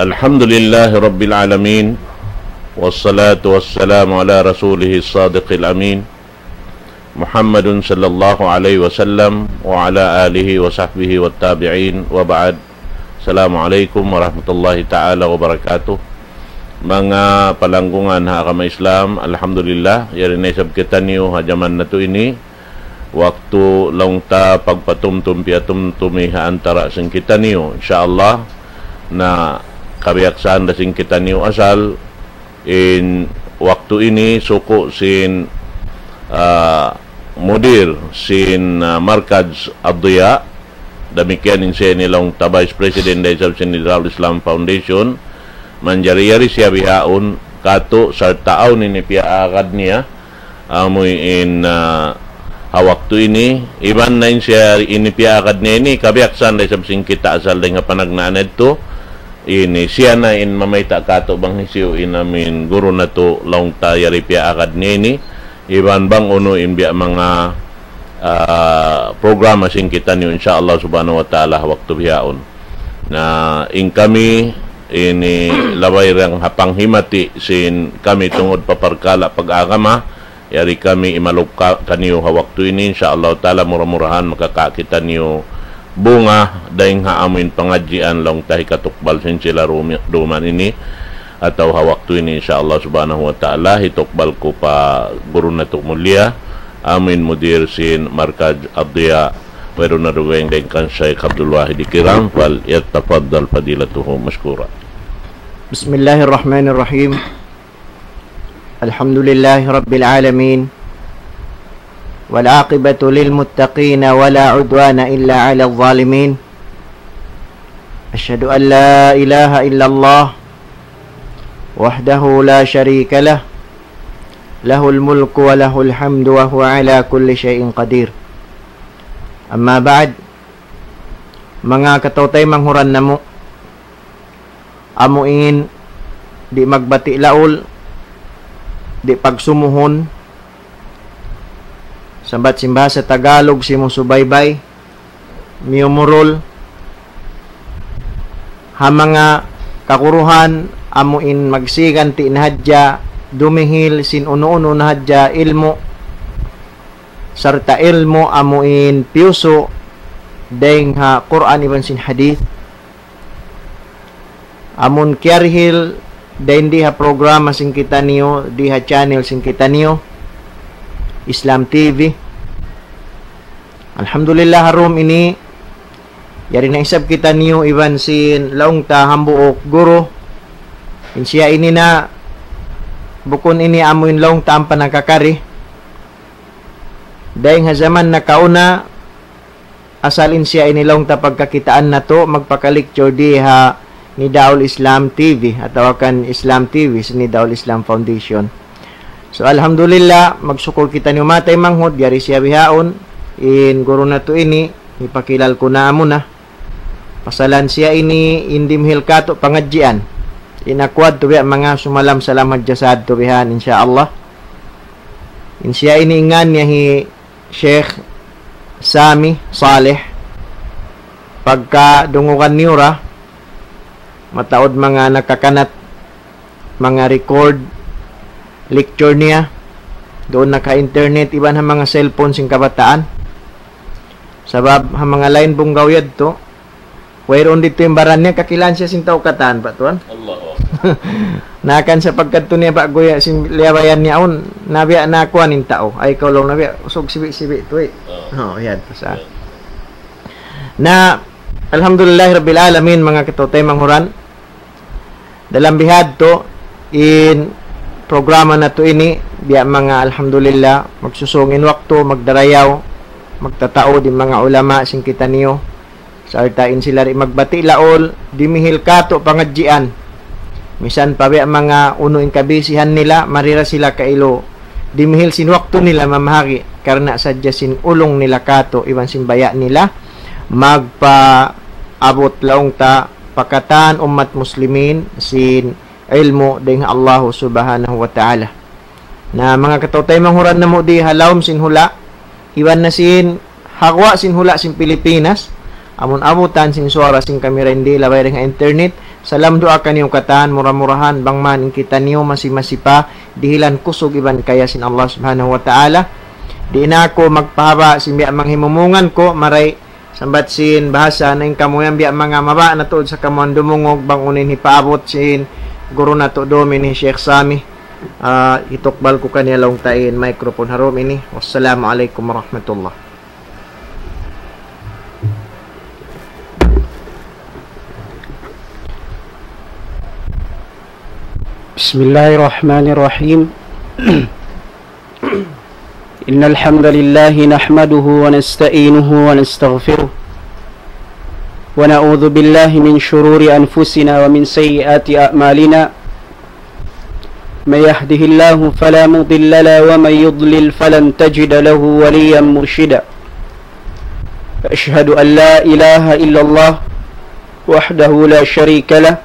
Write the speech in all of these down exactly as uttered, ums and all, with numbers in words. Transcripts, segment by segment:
الحمد لله رب العالمين، والصلاة والسلام على رسوله الصادق الأمين، محمد صلى الله عليه وسلم، وعلى آله وصحبه والتابعين، وبعد. السلام عليكم ورحمة الله تعالى وبركاته. Manga palanggungan ha agama Islam, alhamdulillah, yari na isab kitaniyu ha jaman natu' ini, waktu laung ta pagpatumtum piyatumtumi ha antara' sin kitaniyu. Insya Allah, na kabiyaksahan da sin kitaniyu asal, in waktu ini suku' sin, ah, mudir sin, ah, Markaz Ad-Diya, damikkiyan in siya ini laung ta Vice President da isab sin Darul Islam Foundation, manjari yari siya bihaun katu' sarta' awn ini piyaagad niya, amu in, ah, ha waktu ini, iban na in siya ini piyaagad niya ini, kabiyaksahan da isab sin kita asal dayn ha panagnaan yadtu, ini siya na in mamayta' katu' bang hisiyu in amu in guru natu' laung ta yari piyaagad niya ini, iban bang unu in biya' manga, ah, programa sin kitaniyu, insya Allah subhanahu wa ta'ala, ha waktu bihaun. Na in kami ini labay ra ha panghimati sin kami tungud pa parkala' pag-agama, yari kami imaluk ka-, kaniyu ha waktu ini, insya Allah ta'ala, mura-murahan makakawa' kitaniyu bunga dayn ha amu in pangadjian laung ta hikatukbal sin sila rumi-, duman ini, atawa ha waktu ini, insya Allah subhanahu wa ta'ala, hitukbal ku pa guru natu' mulia, amu in mudir sin Markaz Ad-Diya, wayruun na dugaing dayn kan Shaykh Abdul Wahid Kiram, فليتفضل فضيلته مشكورا. بسم الله الرحمن الرحيم. الحمد لله رب العالمين، والعاقبة للمتقين، ولا عدوان إلا على الظالمين. أشهد أن لا إله إلا الله وحده لا شريك له، له الملك وله الحمد وهو على كل شيء قدير. أما بعد، manga kataw-taymanghuran namu', amu in di' magbati' laul, di' pagsumuhun, sambat sin bahasa Tagalog, simusubaybay, miyumurul, ha manga kaguruhan, amu in magsiganti' na hadja, dumihil sin unu-unu na hadja ilmu', sarta' ilmu' amu in piyusu' dayn ha Qur'an iban sin hadith. Amun kiyarihil dayn di ha programa sin kitaniyu, di ha channel sin kitaniyu, Islam T V. Alhamdulillah, ha dum ini, yari na isab kitaniyu iban sin laung ta hambuuk guru. In siya ini na, bukun ini amu in laung ta ampa nakakari. Dayn ha jaman nakauna, asal in siya ini laung ta pagkakitaan natu', magpaka-lecture di ha Nidaul Islam T V, atawa kan Islam T V, sin Nidaul Islam Foundation. So, alhamdulillah, magsukul kitaniyu manga taymanghud, yari siya bihaun, in guru natu' ini, hipakilal ku na amuna. Pasalan siya ini, in dimihil katu' pangadjian. In aku adtu biya' manga sumalam-salam hadja sadtu bihan, insya Allah. In siya ini in ngan niya hi Sheikh Sami Saleh. Pagka dungugan niyu ra, mataud manga nakakanat, manga record, lecture niya, duun na ha internet, iban ha manga cellphone sin kabataan. Sabab ha manga lain bunggaw yadtu, wayruun didtu in baran niya, kakilahan siya sin tau katan, Pak Tuan. Allahu Akbar. Na kan sapagkat tu niya, Pak, guya sin liyabayan niya awn, na biya' na kuwan in tau. Ay, kaw laung na biya', usug sibi'-sibi' tu, eh. Oh. Oh, yan, pasal. Yan. Na, alhamdulillah rabbil alamin, manga kataw-taymanghuran. Dalam bihadtu, in programa natu' ini, biya' manga alhamdulillah, magsusung in waktu, magdarayaw, magtataud in manga ulama sin kitaniyu, sarta' in sila di' magbati' laul, dimihil katu' pangadjian. Misan pa biya' manga unu in kabisihan nila, mari ra sila kailu dimihil sin waktu nila mamahagi', karna' sadja sin ulung nila katu', iban sin baya' nila, magpaabut laung ta pa katan ummat muslimin sin ilmu' dayn ha Allahu Subhanahu wa Ta'ala. Na manga kataw-taymanghuran namu' di ha lawm sin hula', iban na sin ha guwa' sin hula' sin Pilipinas, Amun abutan sin suwara sin kami dayn di, labay dayn ha internet. Salam duwaa kaniyu katan, mura-murahan bang man in kitaniyu masi-masi pa dihilan kusug iban kaya sin Allah Subhanahu wa Ta'ala. Di' na aku magpahaba' sin biya' manga himumungan ku, maray sambat sin bahasa na in kamu yan biya' manga mabaya' na tuud sa kamu dumungug bang unu in hipaabut sin guru natu' dum ini Sheikh Sami. Ah, hitukbal ku kaniya laung ta in microphone ha dum ini. Wassalamu alaykum warahmatullah. بسم الله الرحمن الرحيم. إن الحمد لله نحمده ونستعينه ونستغفره، ونعوذ بالله من شرور أنفسنا ومن سيئات أعمالنا. من يهده الله فلا مضل له، ومن يضلل فلن تجد له وليا مرشدا. أشهد أن لا إله إلا الله وحده لا شريك له،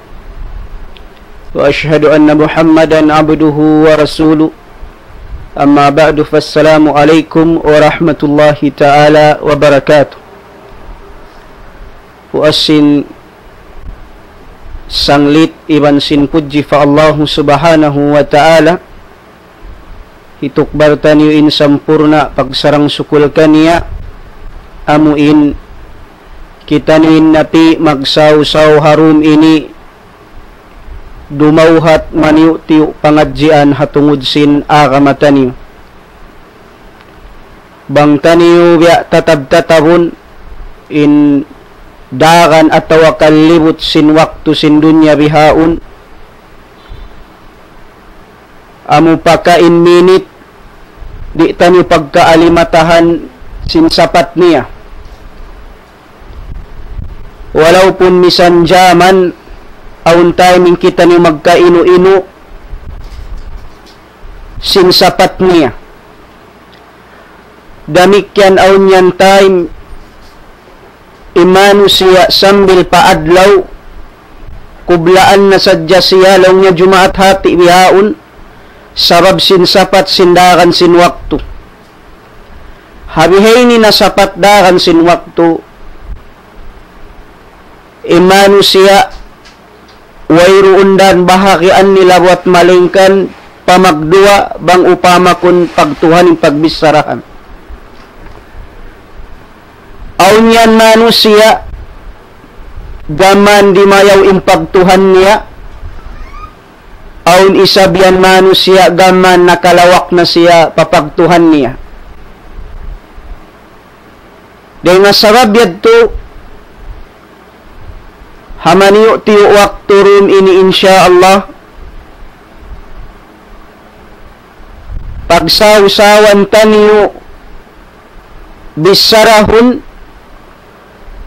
وأشهد أن محمدا عبده ورسوله. أما بعد، فالسلام عليكم ورحمة الله تعالى وبركاته. Puas sin sanglit iban sin pudji pa Allahu Subhanahu wa Ta'ala, hitukbal taniyu in sampurna' pagsarang-sukul kaniya, amu in kitaniyu in napi' magsaw-saw ha dum ini dumawhat maniyu'-tiyu' pangadjian ha tungud sin agama taniyu. Bang taniyu biya' tatab-tatabun in daran atawa kan libut sin waktu sin dunya bihaun, amu pakain minit, di' taniyu pagkaalimatahan sin sapat niya. Walaupun misan jaman, awn time in kitaniyu magkainu-inu sin sapat niya. Damikkiyan awn yan time, in manusiya' sambil pa adlaw, kublaan na sadja siya laung niya Jumaat hati bihaun, sabab sin sapat sin daran sin waktu. Ha bihaini na sapat daran sin waktu, in manusiya' wayruun dan bahagian nila buat malaingkan pamagduwa bang upama kun pagtuhan in pagbissarahan. Awn yan manusiya' gam mayan dimayaw in pagtuhan niya, awn isab yan manusiya' gam mayan nakalawak na siya pa pagtuhan niya. Dayn ha sabab yadtu, ha maniyu'-tiyu' waktu dum ini, insya Allah, pagsaw-sawan taniyu bissarahun,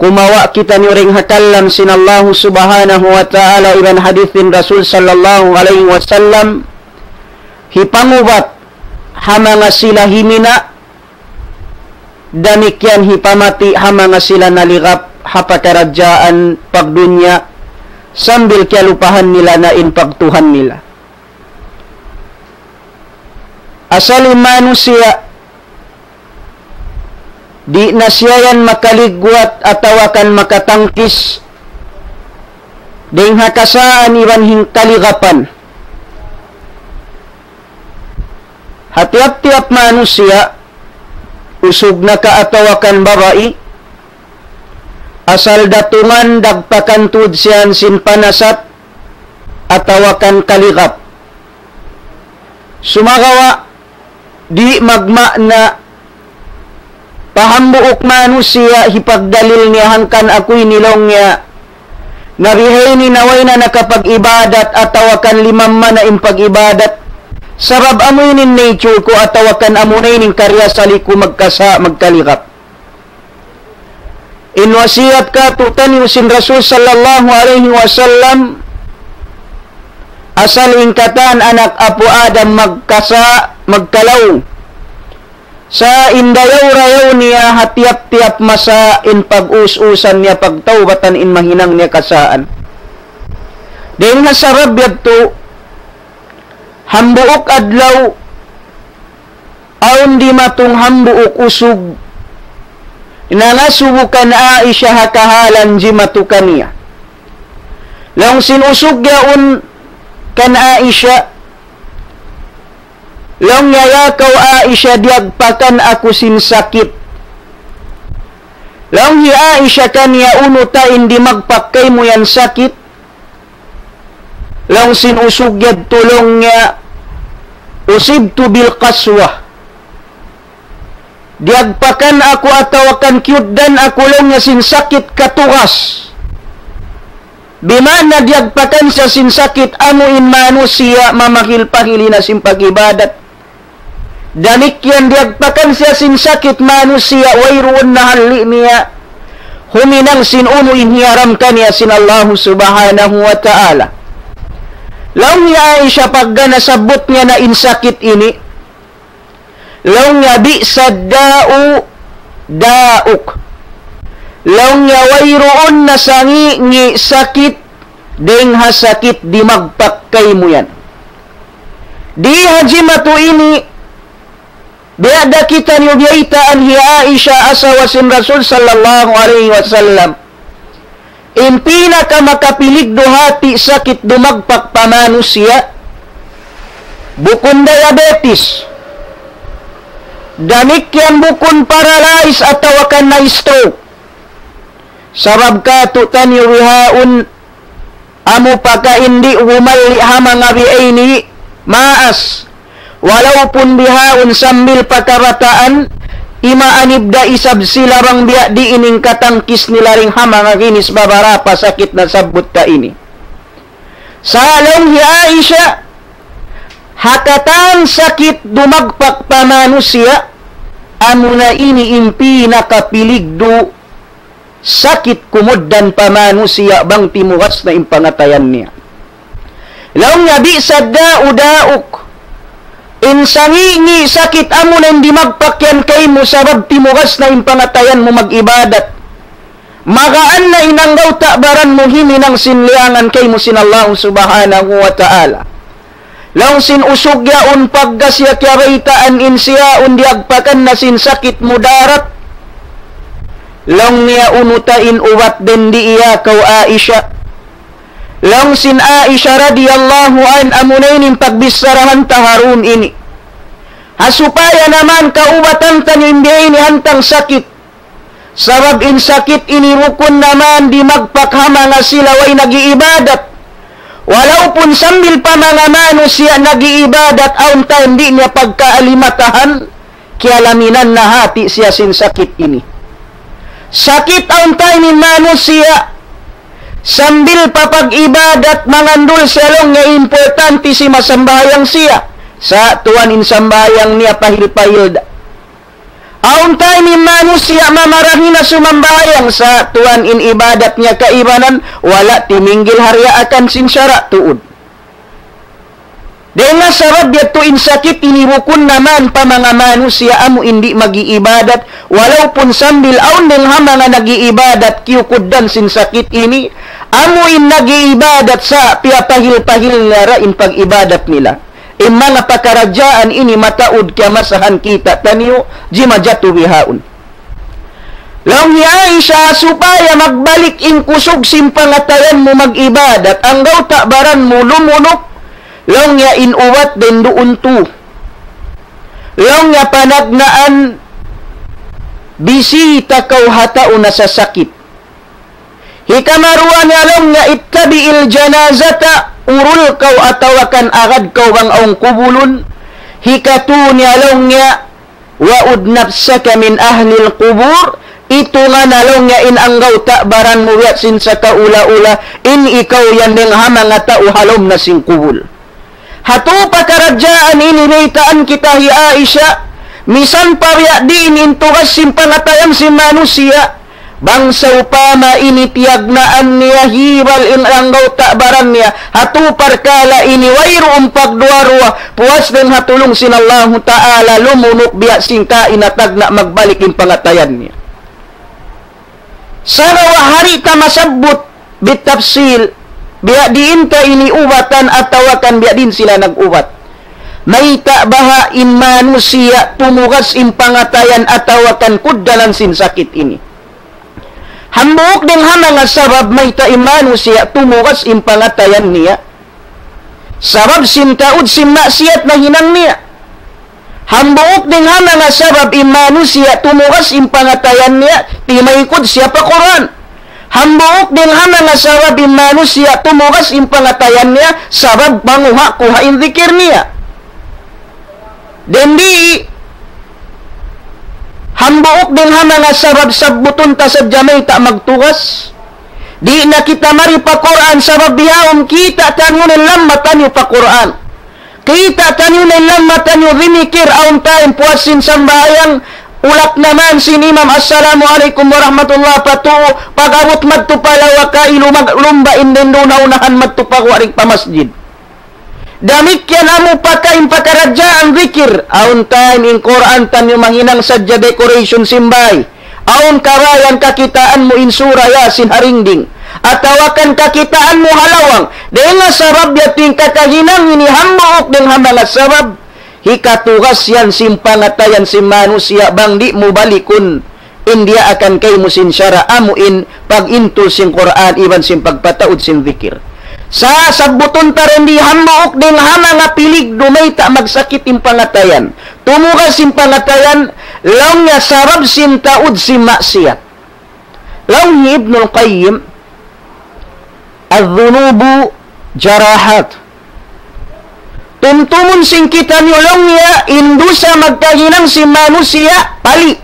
kumawa' kitaniyu dayn ha kalam sin Allahu Subhanahu wa Ta'ala iban hadith sin Rasul sallallahu alayhi wasallam, hipangubat ha manga sila himina', damikkiyan hipamati' ha manga sila naligap ha pakaradjaan pagdunya, sambil kiyalupahan nila na in pagtuhan nila. Asal in manusiya', di' na siya yan makaligwat atawa kan makatangkis dayn ha kasaan iban sin kaligapan. Ha tiyap-tiyap manusiya', usug na ka atawa kan babai, asal datungan dagpakan tuud siya sin panasat atawa kan kaligap. Sumagawa', di' magma'na pa hambuuk manusiya' hipagdalil niya hangkan aku ini laung niya, na bihaini na way na nakapag-ibadat atawa kan limamma na in pag-ibadat. Sabab amu ini in nature ku atawa kan amu na ini in kariyasali ku magkasa-, magkaligap. In wasiyat kātu'niyu sin Rasul sallallahu alayhi wasallam, asal in katan anak apu' Adam magkasa-, magkalaung. Sa' in dayaw-rayaw niya ha tiyap-tiyap masa in pag-us-usan niya pagtawbatan in mahinang niya kasaan. Dayn ha sabab yadtu, hambuuk adlaw, awn dimatung hambuuk usug, nangasubu kan Aisha ha kahalan jimatu kaniya. Laung sin usug yaun kan Aisha, laung niya, "Ya kaw Aisha, diyagpakan aku sin sakit." Laung hi Aisha kaniya, "Unu ta in dimagpak kaymu yan sakit?" Laung sin usug yadtu, laung niya, "Usibtu bil qaswa." Diyagpakan aku atawa kan kiyugdan aku, laung niya, sin sakit katugas. Bima'na diyagpakan siya sin sakit, amu in manusiya' mamahil-pahil na sin pag-ibadat. Damikkiyan diyagpakan siya sin sakit manusiya', wayruun na halli' niya huminang sin unu in hiyaram kaniya sin Allahu Subhanahu wa Ta'ala. Laung hi Aisha pagga nasabbut niya na in sakit ini, laung niya, "Bi'sa da'u da'uk." Laung niya, "Wayruun na sangi'-ngi' sakit dayng ha sakit dimagpak kaymu yan." Di ha jimatu ini, biya' da kitaniyu biyaytaan hi Aisha asawa sin Rasul sallallahu alayhi wasallam. In pinaka makapiligdu hati sakit dumagpak pa manusiya', bukun diabetes, damikkiyan bukun paralyze atawa kan na stroke. Sabab katu'taniyu bihaun, amu pa ka in di' humalli' ha manga biya' ini maas. Walaupun bihaun sambil pa kabataan, imaanib da isab sila bang biya' diin in katangkis nila dayng ha manga ginis babarapa sakit nasabbut ta ini. Sa' laung hi Aisha, ha katan sakit dumagpak pa manusiya', amuna ini in pinakapiligdu sakit kumugdan pa manusiya' bang timugas na in pangatayan niya. Laung niya, "Bi'sa da'u da'uk." In sangi'-ngi' sakit amuna in dimagpak yan kaymu sabab timugas na in pangatayan mu mag-ibadat. Magaan na in anggawta' baran mu himinang sin liyangan kaymu sin Allah Subhanahu wa Ta'ala. Laung sin usug yaun pagga siya kiyabaytaan in siya yaun diyagpakan na sin sakit mudarat. Laung niya, "Unu ta in ubat dindi iya kaw Aisha?" Laung sin Aisha radiyallahu anha, amuna ini in pagbicharahan ta ha dum ini. Ha supaya naman kaubatan ta in biya' ini hantang sakit. Sabab in sakit ini bukun naman dimagpak ha manga sila way nag-iibadat. Walaupun sambil pa manga manusiya' nag-iibadat, awn time di' niya pagkaalimatahan, kiyalaminan na hati siya sin sakit ini. Sakit awn time in manusiya', sambil pa pag-ibadat, mangandul siya laung niya importante simasambahayang siya. Sa' tuwan in sambahayang niya pahil-pahil da. Awn time in manusiya' mamarahi na sumambahayang sa' tuwan in ibadat niya kaibanan, wala' timinggil ha riyaakan sin sara' tuud. Dayn ha sabab yadtu in sakit ini bukun naman pa manga manusiya' amu in di' mag-iibadat, walaupun sambil awn dayng ha manga nag-iibadat kiyukugdan sin sakit ini, amu in nag-iibadat sa' piyapahil-pahil nila in pag-ibadat nila. In manga pakaradjaan ini mataud kiyamasahan kitaniyu, jimatu bihaun. Laung hi Aisha, supaya magbalik in kusug sin pangatayan mu mag-ibadat, anggawta' baran mu lumunuk, laung niya in ubat dindi duun tu. Laung niya panagnaan, bisita kaw ha tau nasasakit. Hikaruwa niya laung niya, اتبع الجنازة, urul kaw atawa kan agad kaw bang awn kubulun. Hikatu niya laung niya, وعد نفسك من أهل القبور, itungan na laung niya in anggawta' baran mu biya' sin sakaula-ula, in ikaw yan dayng ha manga tau ha lawm na sin kubul. Hatu pakaradjaan ini baytaan kita hi Aisha, misan pa biya' diin in tugas sin pangatayan sin manusiya', bang sawpama ini tiyagnaan niya hibal in anggawta' baran niya, hatu parkala' ini wayruun pagduwa-ruwa, puas dayng ha tulung sin Allahu Ta'ala lumunuk biya' sin kaina tagna' magbalik in pangatayan niya. Sagawa' di' ta masabbut bitafsil, biya' diin ta ini ubatan atawa kan biya' diin sila nag-ubat. Mayta' baha' in manusiya' tumugas in pangatayan atawa kan kugdanan sin sakit ini? Hambuuk dayn ha manga sabab mayta' in manusiya' tumugas in pangatayan niya. Sabab sin taud sin maksiyat nahinang niya. Hambuuk dayn ha manga sabab in manusiya' tumugas in pangatayan niya, timaykud siya pa Qur'an. Hambuuk dayn ha manga sabab in manusiya' tumugas in pangatayan niya, sabab panguha-kuha in dhikir niya. Dayn di, hambuuk dayn ha manga sabab sabbutun ta sadja mayta' magtugas. Di' na kita mari pa Qur'an sabab bihaun kita' taniyu na in lamma taniyu pa Qur'an. Kita' taniyu na in lamma taniyu dimikir awn time puas sin sambahayang, ulak na man sin imam, "Assalamu alaykum warahmatullah," pa tuu, pag-abut madtu pa lawaka, ilumag-, lumba in dayn duun ha unahan madtu pa guwa' ri pa masjid. Damikkiyan amu pa ka in pakaradjaan dhikir. Awn time in Qur'an taniyu mahinang sadja decoration sin bāy. Awn kabayaan kakitaan mu in sura Yasin ha dingding. Atawa kan kakitaan mu ha lawang. Dayn ha sabab yadtu in kakahinang ini hambuuk dayn ha manga sabab. Hikatugas yan sin pangatayan sin manusiya' bang di' mu balikun in diyaakan kaymu sin sara' amu in pag-intul sin Qur'an iban sin pagpataud sin dhikir. Sa' sabbutun ta dayn di hambuuk dayn ha manga piligdu mayta' magsakit in pangatayan. Tumugas in pangatayan, laung niya sabab sin taud sin maksiyat. Laung hi Ibnul Qayyim, الذنوب جراحات. Tumtumun sin kitaniyu laung niya, in dusa magkahinang sin manusiya' pali'.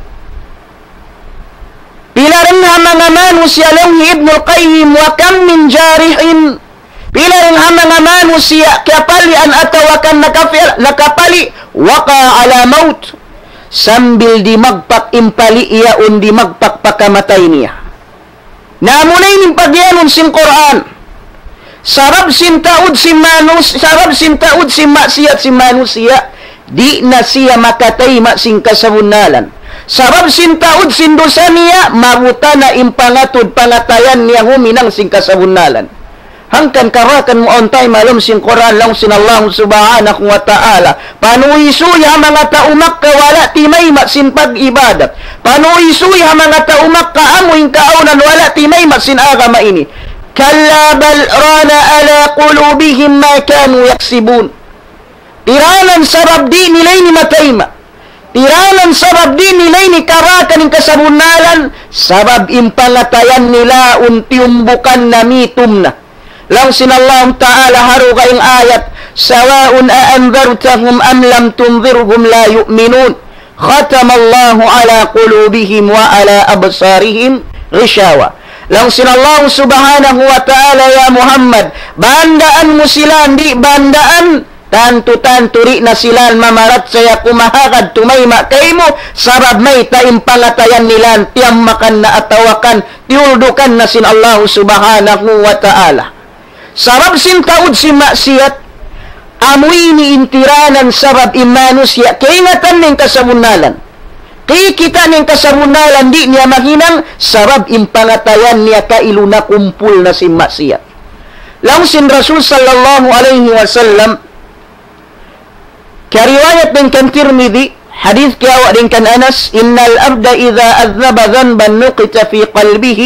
Pila dayn ha manga manusiya' laung hi Ibnul Qayyim, وكم من جارح. Pila dayn ha manga manusiya' kiyapalian atawa kan nakapil-, nakapali', وقع على موت. Sambil dimagpak in pali' yaun dimagpak pa kamatay niya. Na amuna ini in pagiyanun sin Qur'an. Sabab sin taud sin manus-, sabab sin taud sin maksiyat sin manusiya', di' na siya makataima' sin kasabunnalan. Sabab sin taud sin dusa niya, mabuta na in pangatud pangatayan niya huminang sin kasabunnalan. Hangkan karakan mu awn time ha lawm sin Qur'an laung sin Allah Subhanahu wa Ta'ala. Panuysuy ha manga tau Makkah wala' timayma' sin pag-ibadat. Panuysuy ha manga tau Makkah amu in kaawnan wala' timayma' sin agama ini. كلا بل ران على قلوبهم ما كانوا يكسبون. Tiranan sabab di' nila ini matayma'. Tiranan sabab di' nila ini karakan in kasabunnalan, sabab in pangatayan nila awn tiyumbukan na mitum na. Laung sin Allah Ta'ala ha dugaing ayat, سواء أأنذرتهم أم لم تنذرهم لا يؤمنون ختم الله على قلوبهم وعلى أبصارهم غشاوة. Laung sin Allah Subhanahu wa Ta'ala, ya Muhammad, bandaan mu sila, di' bandaan, tantu-tantu di' na sila mamarachaya kumahagad tumayma' kaymu, sabab mayta' in pangatayan nila tiyammakan na atawa kan tiyuldukan na sin Allah Subhanahu wa Ta'ala. Sabab sin taud sin maksiyat, amu ini in tiranan sabab in manusiya' kaingatan niya in kasabunnalan. Kikita' niya in kasabunnalan di' niya mahinang sabab in pangatayan niya kailu nakumpul na sin maksiyat. Laung sin Rasul sallallahu alayhi wasallam, kiyariwayat dayn kan Tirmidhi, hadith kiyawa' dayn kan Anas, إن العبد إذا أذنب ذنبا نكتت في قلبه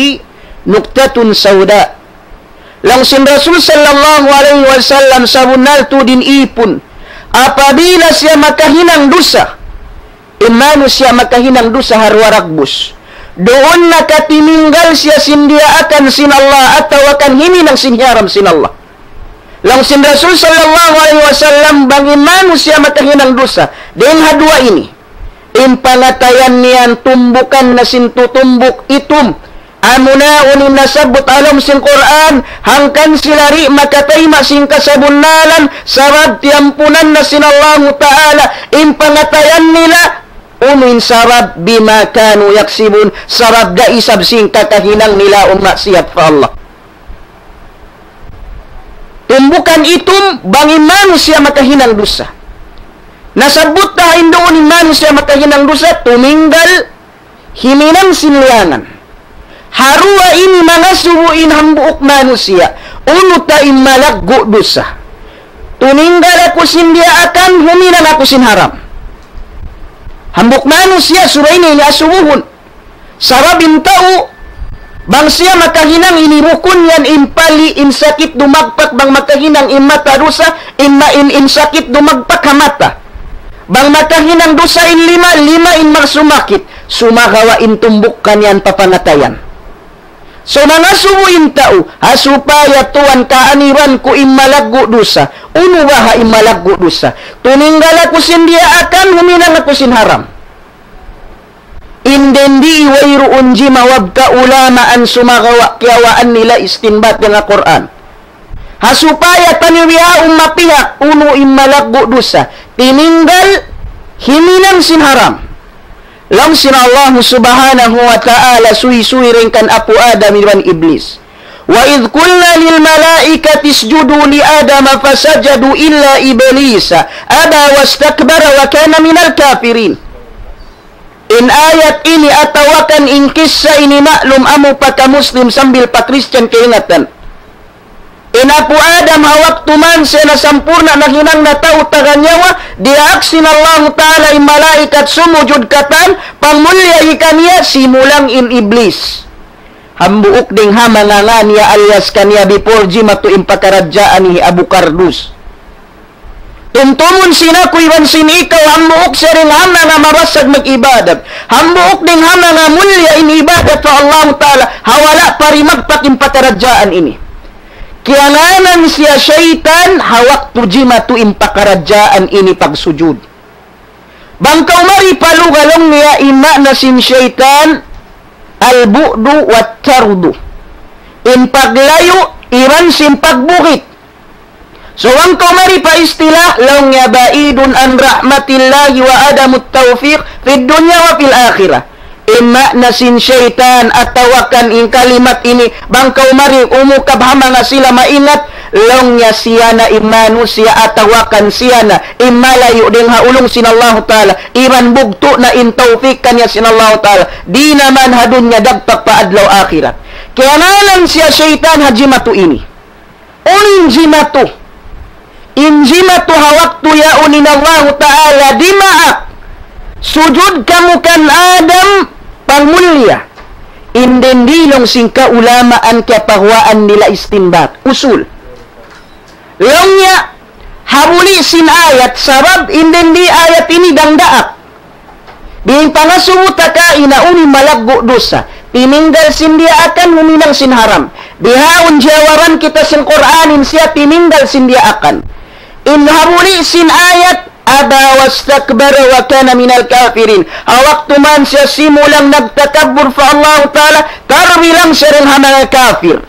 نكتة سوداء. Laung sin Rasul sallallahu alayhi wasallam, sabunnal tuud in ipun, apabila siya makahinang dusa, in manusiya' makahinang dusa ha duwa dagbus, duun na katiminggal siya sin diyaakan sin Allah atawa kan himinang sin hiyaram sin Allah. Laung sin Rasul sallallahu alayhi wasallam, bang in manusiya' makahinang dusa dayn ha duwa ini, in pangatayan niya tumbukan na sin tutumbuk itum. Amuna unu in nasabbut ha lawm sin Qur'an, hangkan sila di' makatayma' sin kasabunnalan, sabab tiyampunan na sin Allahu Ta'ala in pangatayan nila, unu in sabab, بما كانوا يكسبون, sabab da isab sin kakahinang nila awn maksiyat pa Allah. Tumbukan itum bang in manusiya' makahinang dusa. Nasabbut ta ha duun in manusiya' makahinang dusa, tuminggal, himinang sin liyangan. Ha duwa ini mangasubu in hambuuk manusiya', unu ta in malaggu' dusa. Tininggal aku sin diyaakan, huminang aku sin haram. Hambuuk manusiya' subay niya ini asubuhun. Sabab in tau, bang siya makahinang ini rukun yan, in pali', in sakit dumagpak, bang makahinang in mata dusa, in, ma-, in, in sakit dumagpak ha mata. Bang makahinang dusa in lima, lima in magsumakit, sumagawa' in tumbuk kaniya pa pangatayan. So, mangasubu in tau, ha supaya tuwan kaaniban ku in malaggu' dusa, unu baha' in malaggu' dusa? Tininggal aku sin diyaakan, huminang aku sin haram. In dindi wayruun jimawab kaulamaan sumagawa' kiyawaan nila istinbat dayn ha Qur'an. Ha supaya taniyu bihaun mapihak unu in malaggu' dusa, tininggal, himinang sin haram. Laung sin Allah Subhanahu wa Ta'ala suysuy dayn kan Apu' Adam iban Iblis. وإذ قلنا للملائكة اسجدوا لآدم فسجدوا إلا إبليس أبى واستكبر وكان من الكافرين. In ayat ini atawa kan in kissa ini maklum amu pa ka Muslim sambil pa Christian kaingatan. In Apu' Adam ha waktu man siya nasampurna' nahinang na tau taga nyawa, diyaak sin Allahu Ta'ala in malaikat sumujud katan, pangmuliahi kaniya, simulang in Iblis. Hambuuk dayn ha manga ngan niya alias kaniya before jimatu in pakaradjaan hi Abu Kardus. Tumtumun sin aku iban sin ikaw, hambuuk siya dayn ha manga mabasag mag-ibadat. Hambuuk dayn ha manga mulliya in ibadat pa Allahu Ta'ala, ha wala' pa rimagpak in pakaradjaan ini. Kiyangānan siya saytan, ha waktu jimatu in pakaradjaan ini pagsujud. Bang kaw mari pa lugha laung niya in maana sin saytan, البعد والطرد. In paglayu', iban sin pagbugit. So, bang kaw mari pa istilah, laung niya بعيد عن رحمة الله وعدم التوفيق في الدنيا وفي الآخرة. In maana sin saytan atawa kan in kalimat ini, bang kaw mari umukab ha manga sila maingat, laung niya siya na in manusiya' atawa kan siya na in malayu' dayn ha ulung sin Allahu Ta'ala, iban bugtu' na in tawfik kaniya sin Allahu Ta'ala, di' na man ha dunya dagpak pa adlaw akhirat. Kiyangānan siya saytan ha jimatu ini. Unu in jimatu? In jimatu ha waktu yaun in Allahu Ta'ala dimaak. Sujud kamu kan Adam pangmulia. In dindi laung sin kaulamaan kiyapaguwaan nila istinbat. Usul. Laung niya, ha buli' sin ayat, sabab in dindi ayat ini dangdaak. Bang pangasubu ta kaina unu in malaggu' dusa, tininggal sin diyaakan, huminang sin haram. Bihaun jawaban kita sin Qur'an in siya tininggal sin diyaakan. In ha buli' sin ayat, أبى واستكبر وكان من الكافرين. Ha waktu man siya simulang nagtakabbur pa Allahu Ta'ala, tarbilang siya dayn ha manga kafir.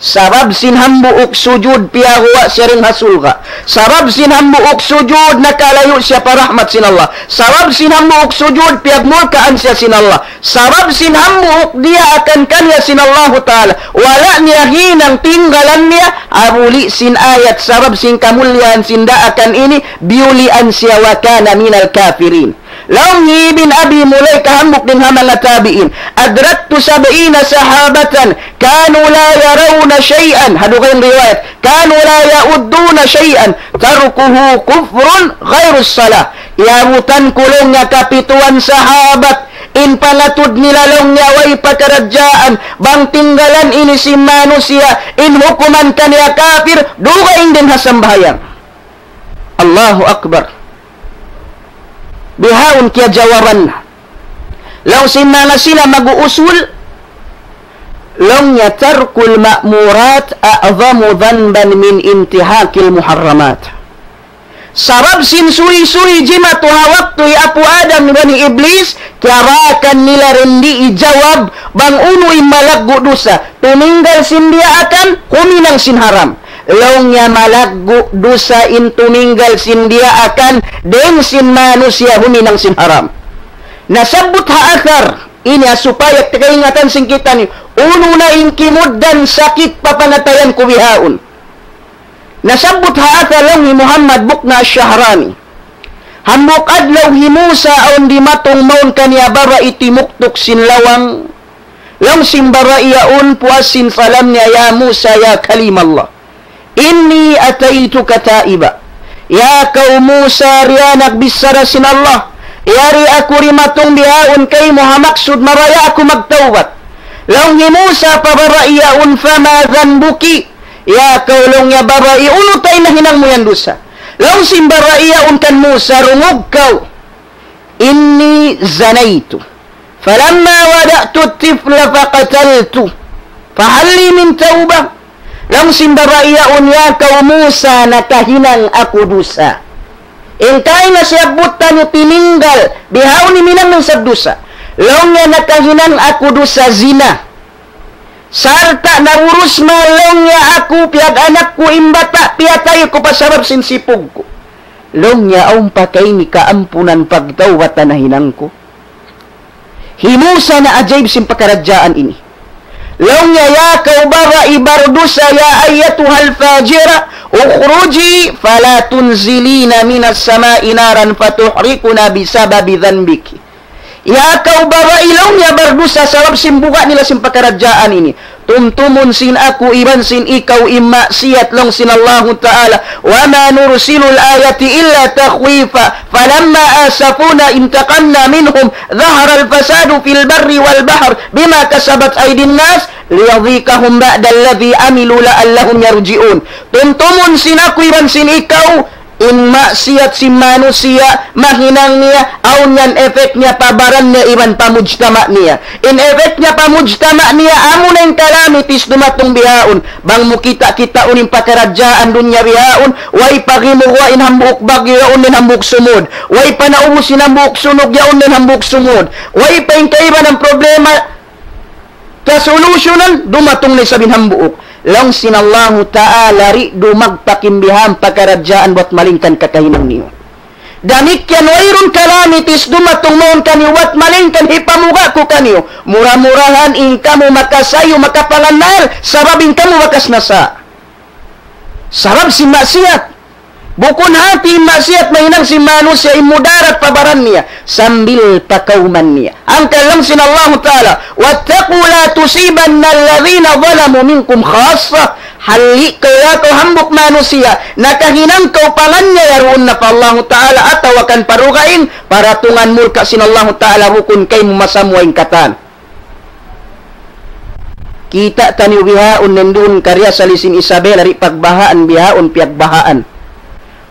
Sabab sin hambuuk sujud piyaguwa' siya dayn ha surga'. Sabab sin hambuuk sujud nakalayu' siya pa rahmat sin Allah. Sabab sin hambuuk sujud piyagmurkaan siya sin Allah. Sabab sin hambuuk diyaakan kaniya sin Allahu Ta'ala. Wala' niya hinang tinggalan niya, ha buli' sin ayat sabab sin kamulliyahan sin daakan ini, biyulian siya وكان من الكافرين. Laung hi Ibn Abi Mulaykah hambuuk dayn ha manga tabi'in, أدركت سبعين صحابة كانوا لا يرون شيئا, ha dugaing riwayat, كانوا لا يعدون شيئا تركه كفر غير الصلاة. Iyabutan ku laung niya kapituan sahabat, in pangatud nila laung niya way pakaradjaan, bang tinggalan ini sin manusiya', in hukuman kaniya kafir, dugaing dayn ha sambahayang. Allahu Akbar. Bihaun kiyajawaban. Laung sin manga sila mag-uusul, laung niya ترك المأمورات أعظم ذنبا من انتهاك المحرمات. Sabab sin suysuy jimatu ha waktu hi Apu' Adam iban hi Iblis, kiyarakan nila dindi ijawab bang unu in malaggu' dusa, tuminggal sin diyaakan, huminang sin haram. Laung niya malaggu' dusa in tuminggal sin diyaakan, dayn sin manusiya' huminang sin haram. Nasabbut ha athar, ini ha supaya kaingatan sin kitaniyu, unu na in kimugdan sakit pa pangatayan ku bihaun. Nasabbut ha athar laung hi Muhammad Bukna Ash-Shahrani. Hambuuk adlaw hi Musa awn dimatung mawn kaniya babai timuktuk sin lawang. Laung sin babai yaun puas sin salam niya, يا موسى يا كليم الله إني أتيتك تائبا Ya kaw Musa, di' na bichara sin Allah. Yari aku dimatung bihaun kaymu ha maksud mabaya' aku magtawbat. Laung hi Musa pa babai yaun, فما ذنبك. Ya kaw, laung niya, babai, unu ta in nahinang mu yan dusa? Laung sin babai yaun kan Musa, dungug kaw. إني زنيت فلما ولدت الطفل فقتلته فهل لي من توبة؟ Laung sin babai yaun, ya kaw Musa, nakahinang aku dusa. In kaina siyabbut taniyu tininggal, bihaun himinang na isab dusa. Laung niya, nakahinang aku dusa zina. Sarta' naurus man laung niya aku, piyag-anak ku in bata', piyatay ku pa sabab sin sipug ku. Laung niya, awn pa kayni kaampunan pagtawbat ha nahinang ku. Hi Musa naajaib sin pakaradjaan ini. Laung niya, ya kaw babai bardusa, يا أيتها الفاجرة اخرجي فلا تنزلين من السماء نارا فتحرقنا بسبب ذنبك. Ya kaw babai, laung niya, bardusa sabab sin buga' nila sin pakaradjaan ini. Tumtumun sin aku iban sin ikaw in maksiyat, laung sin Allahu Ta'ala. وما نرسل الآية إلا تخويفا فلما آسفونا انتقمنا منهم ظهر الفساد في البر والبحر بما كسبت أيدي الناس ليذيقهم بعض الذي عملوا لعلهم يرجعون. Tumtumun sin aku iban sin ikaw, in maksiyat sin manusiya', mahinang niya, awn yan effect niya pa baran niya iban pa mujtama' niya. In effect niya pa mujtama' niya, amuna in calamities dumatung bihaun. Bang mu kita'-kitaun in pakaradjaan dunya bihaun, way pa gimuwa' in hambuuk bagyu, yaun in hambuuk sumud. Way pa naubus in hambuuk sunug, yaun in hambuuk sumud. Way pa in kaibanan problema, kasolusyunan, dumatung na isab in hambuuk. Laung sin Allahu Ta'ala, di' dumagpak in bihaun pakaradjaan buwat malaingkan kakahinang niyu. Damikkiyan wayruun calamities dumatung mawn kaniyu buwat malaingkan hipamuga' ku kaniyu. Mura-murahan in kamu makasayu, makapangannal, sabab in kamu bakas nasa. Sabab sin maksiyat. Bukun hati in maksiyat mahinang sin manusiya' in mudarat pa baran niya, sambil pa kawman niya. Hangkan laung sin Allahu Ta'ala, واتقوا لا تصيبن الذين ظلموا منكم خاصة. Halli' kaw ya kaw hambuuk manusiya', nakahinang kaw pangannal, yaruun na pa Allahu Ta'ala atawa kan pa dugaing, paratungan murka' sin Allahu Ta'ala, bukun kaymu masamuwa in katan. Kita' taniyu bihaun nindun kariyasali sin Isabela di' pagbahaan bihaun piyagbahaan.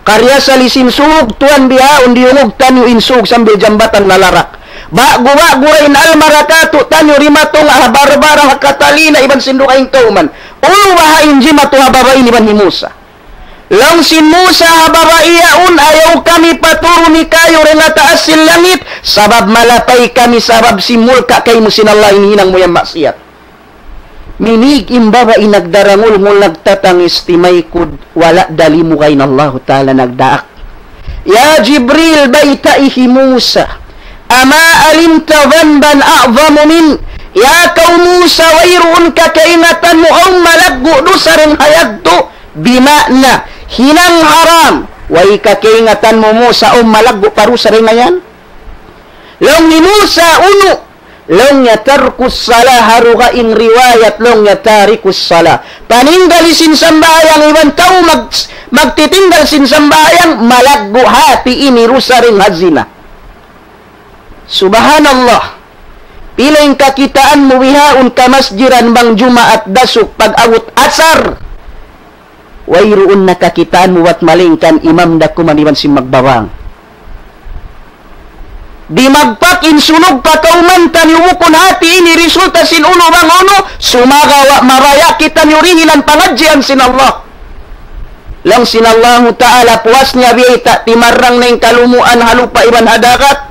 Kariyasali sin sug tuwan bihaun diyungug taniyu in sug sambil jambatan nalarak. Ba'gu-ba'gu ra in almarakatu' taniyu dimatung ha Barbara, ha Catalina iban sin dugaing kawman. Unu baha' in jimatu ha babai ini iban hi Musa? Laung sin Musa ha babai yaun, ayaw kami paturuni kāyu' dayn ha taas sin langit, sabab malapay kami sabab sin murka' kaymu sin Allah in hinang mu yan maksiyat. Minig in babai nagdarangulngul nagtatangis timaykud, wala' da limuga in Allahu Ta'ala nagdaak. Ya Jibril, baytai hi Musa. أما علمت ذنبا أعظم منه. Ya kaw Musa, wayruun ka kaingatan mu awn malaggu' dusa dayn ha yadtu, bima'na hinang haram. Way ka kaingatan mu Musa awn malaggu' pa dusa dayn ha yan? Laung hi Musa, unu? Laung niya ترك الصلاة, ha dugaing riwayat laung niya تارك الصلاة. Paninggal sin sambahayang iban tau mag-, magtitinggal sin sambahayang, malaggu' hati ini dusa dayn ha zina. Subhanallah. Pila in kakitaan mu bihaun kamasjidan bang Jumaat dasuk pag-abut asar. Wayruun na kakitaan mu buwat malaingkan imam da kuman iban sin magbabang. Dimagpak in sunug pa kawman taniyu bukun hati ini resulta sin unu bang unu, sumagawa' mabaya' kitaniyu dihilan pangadjian sin Allah. Laung sin Allahu Ta'ala, puas niya biyayta' timarang na in kalumuan ha lupa' iban ha dagat.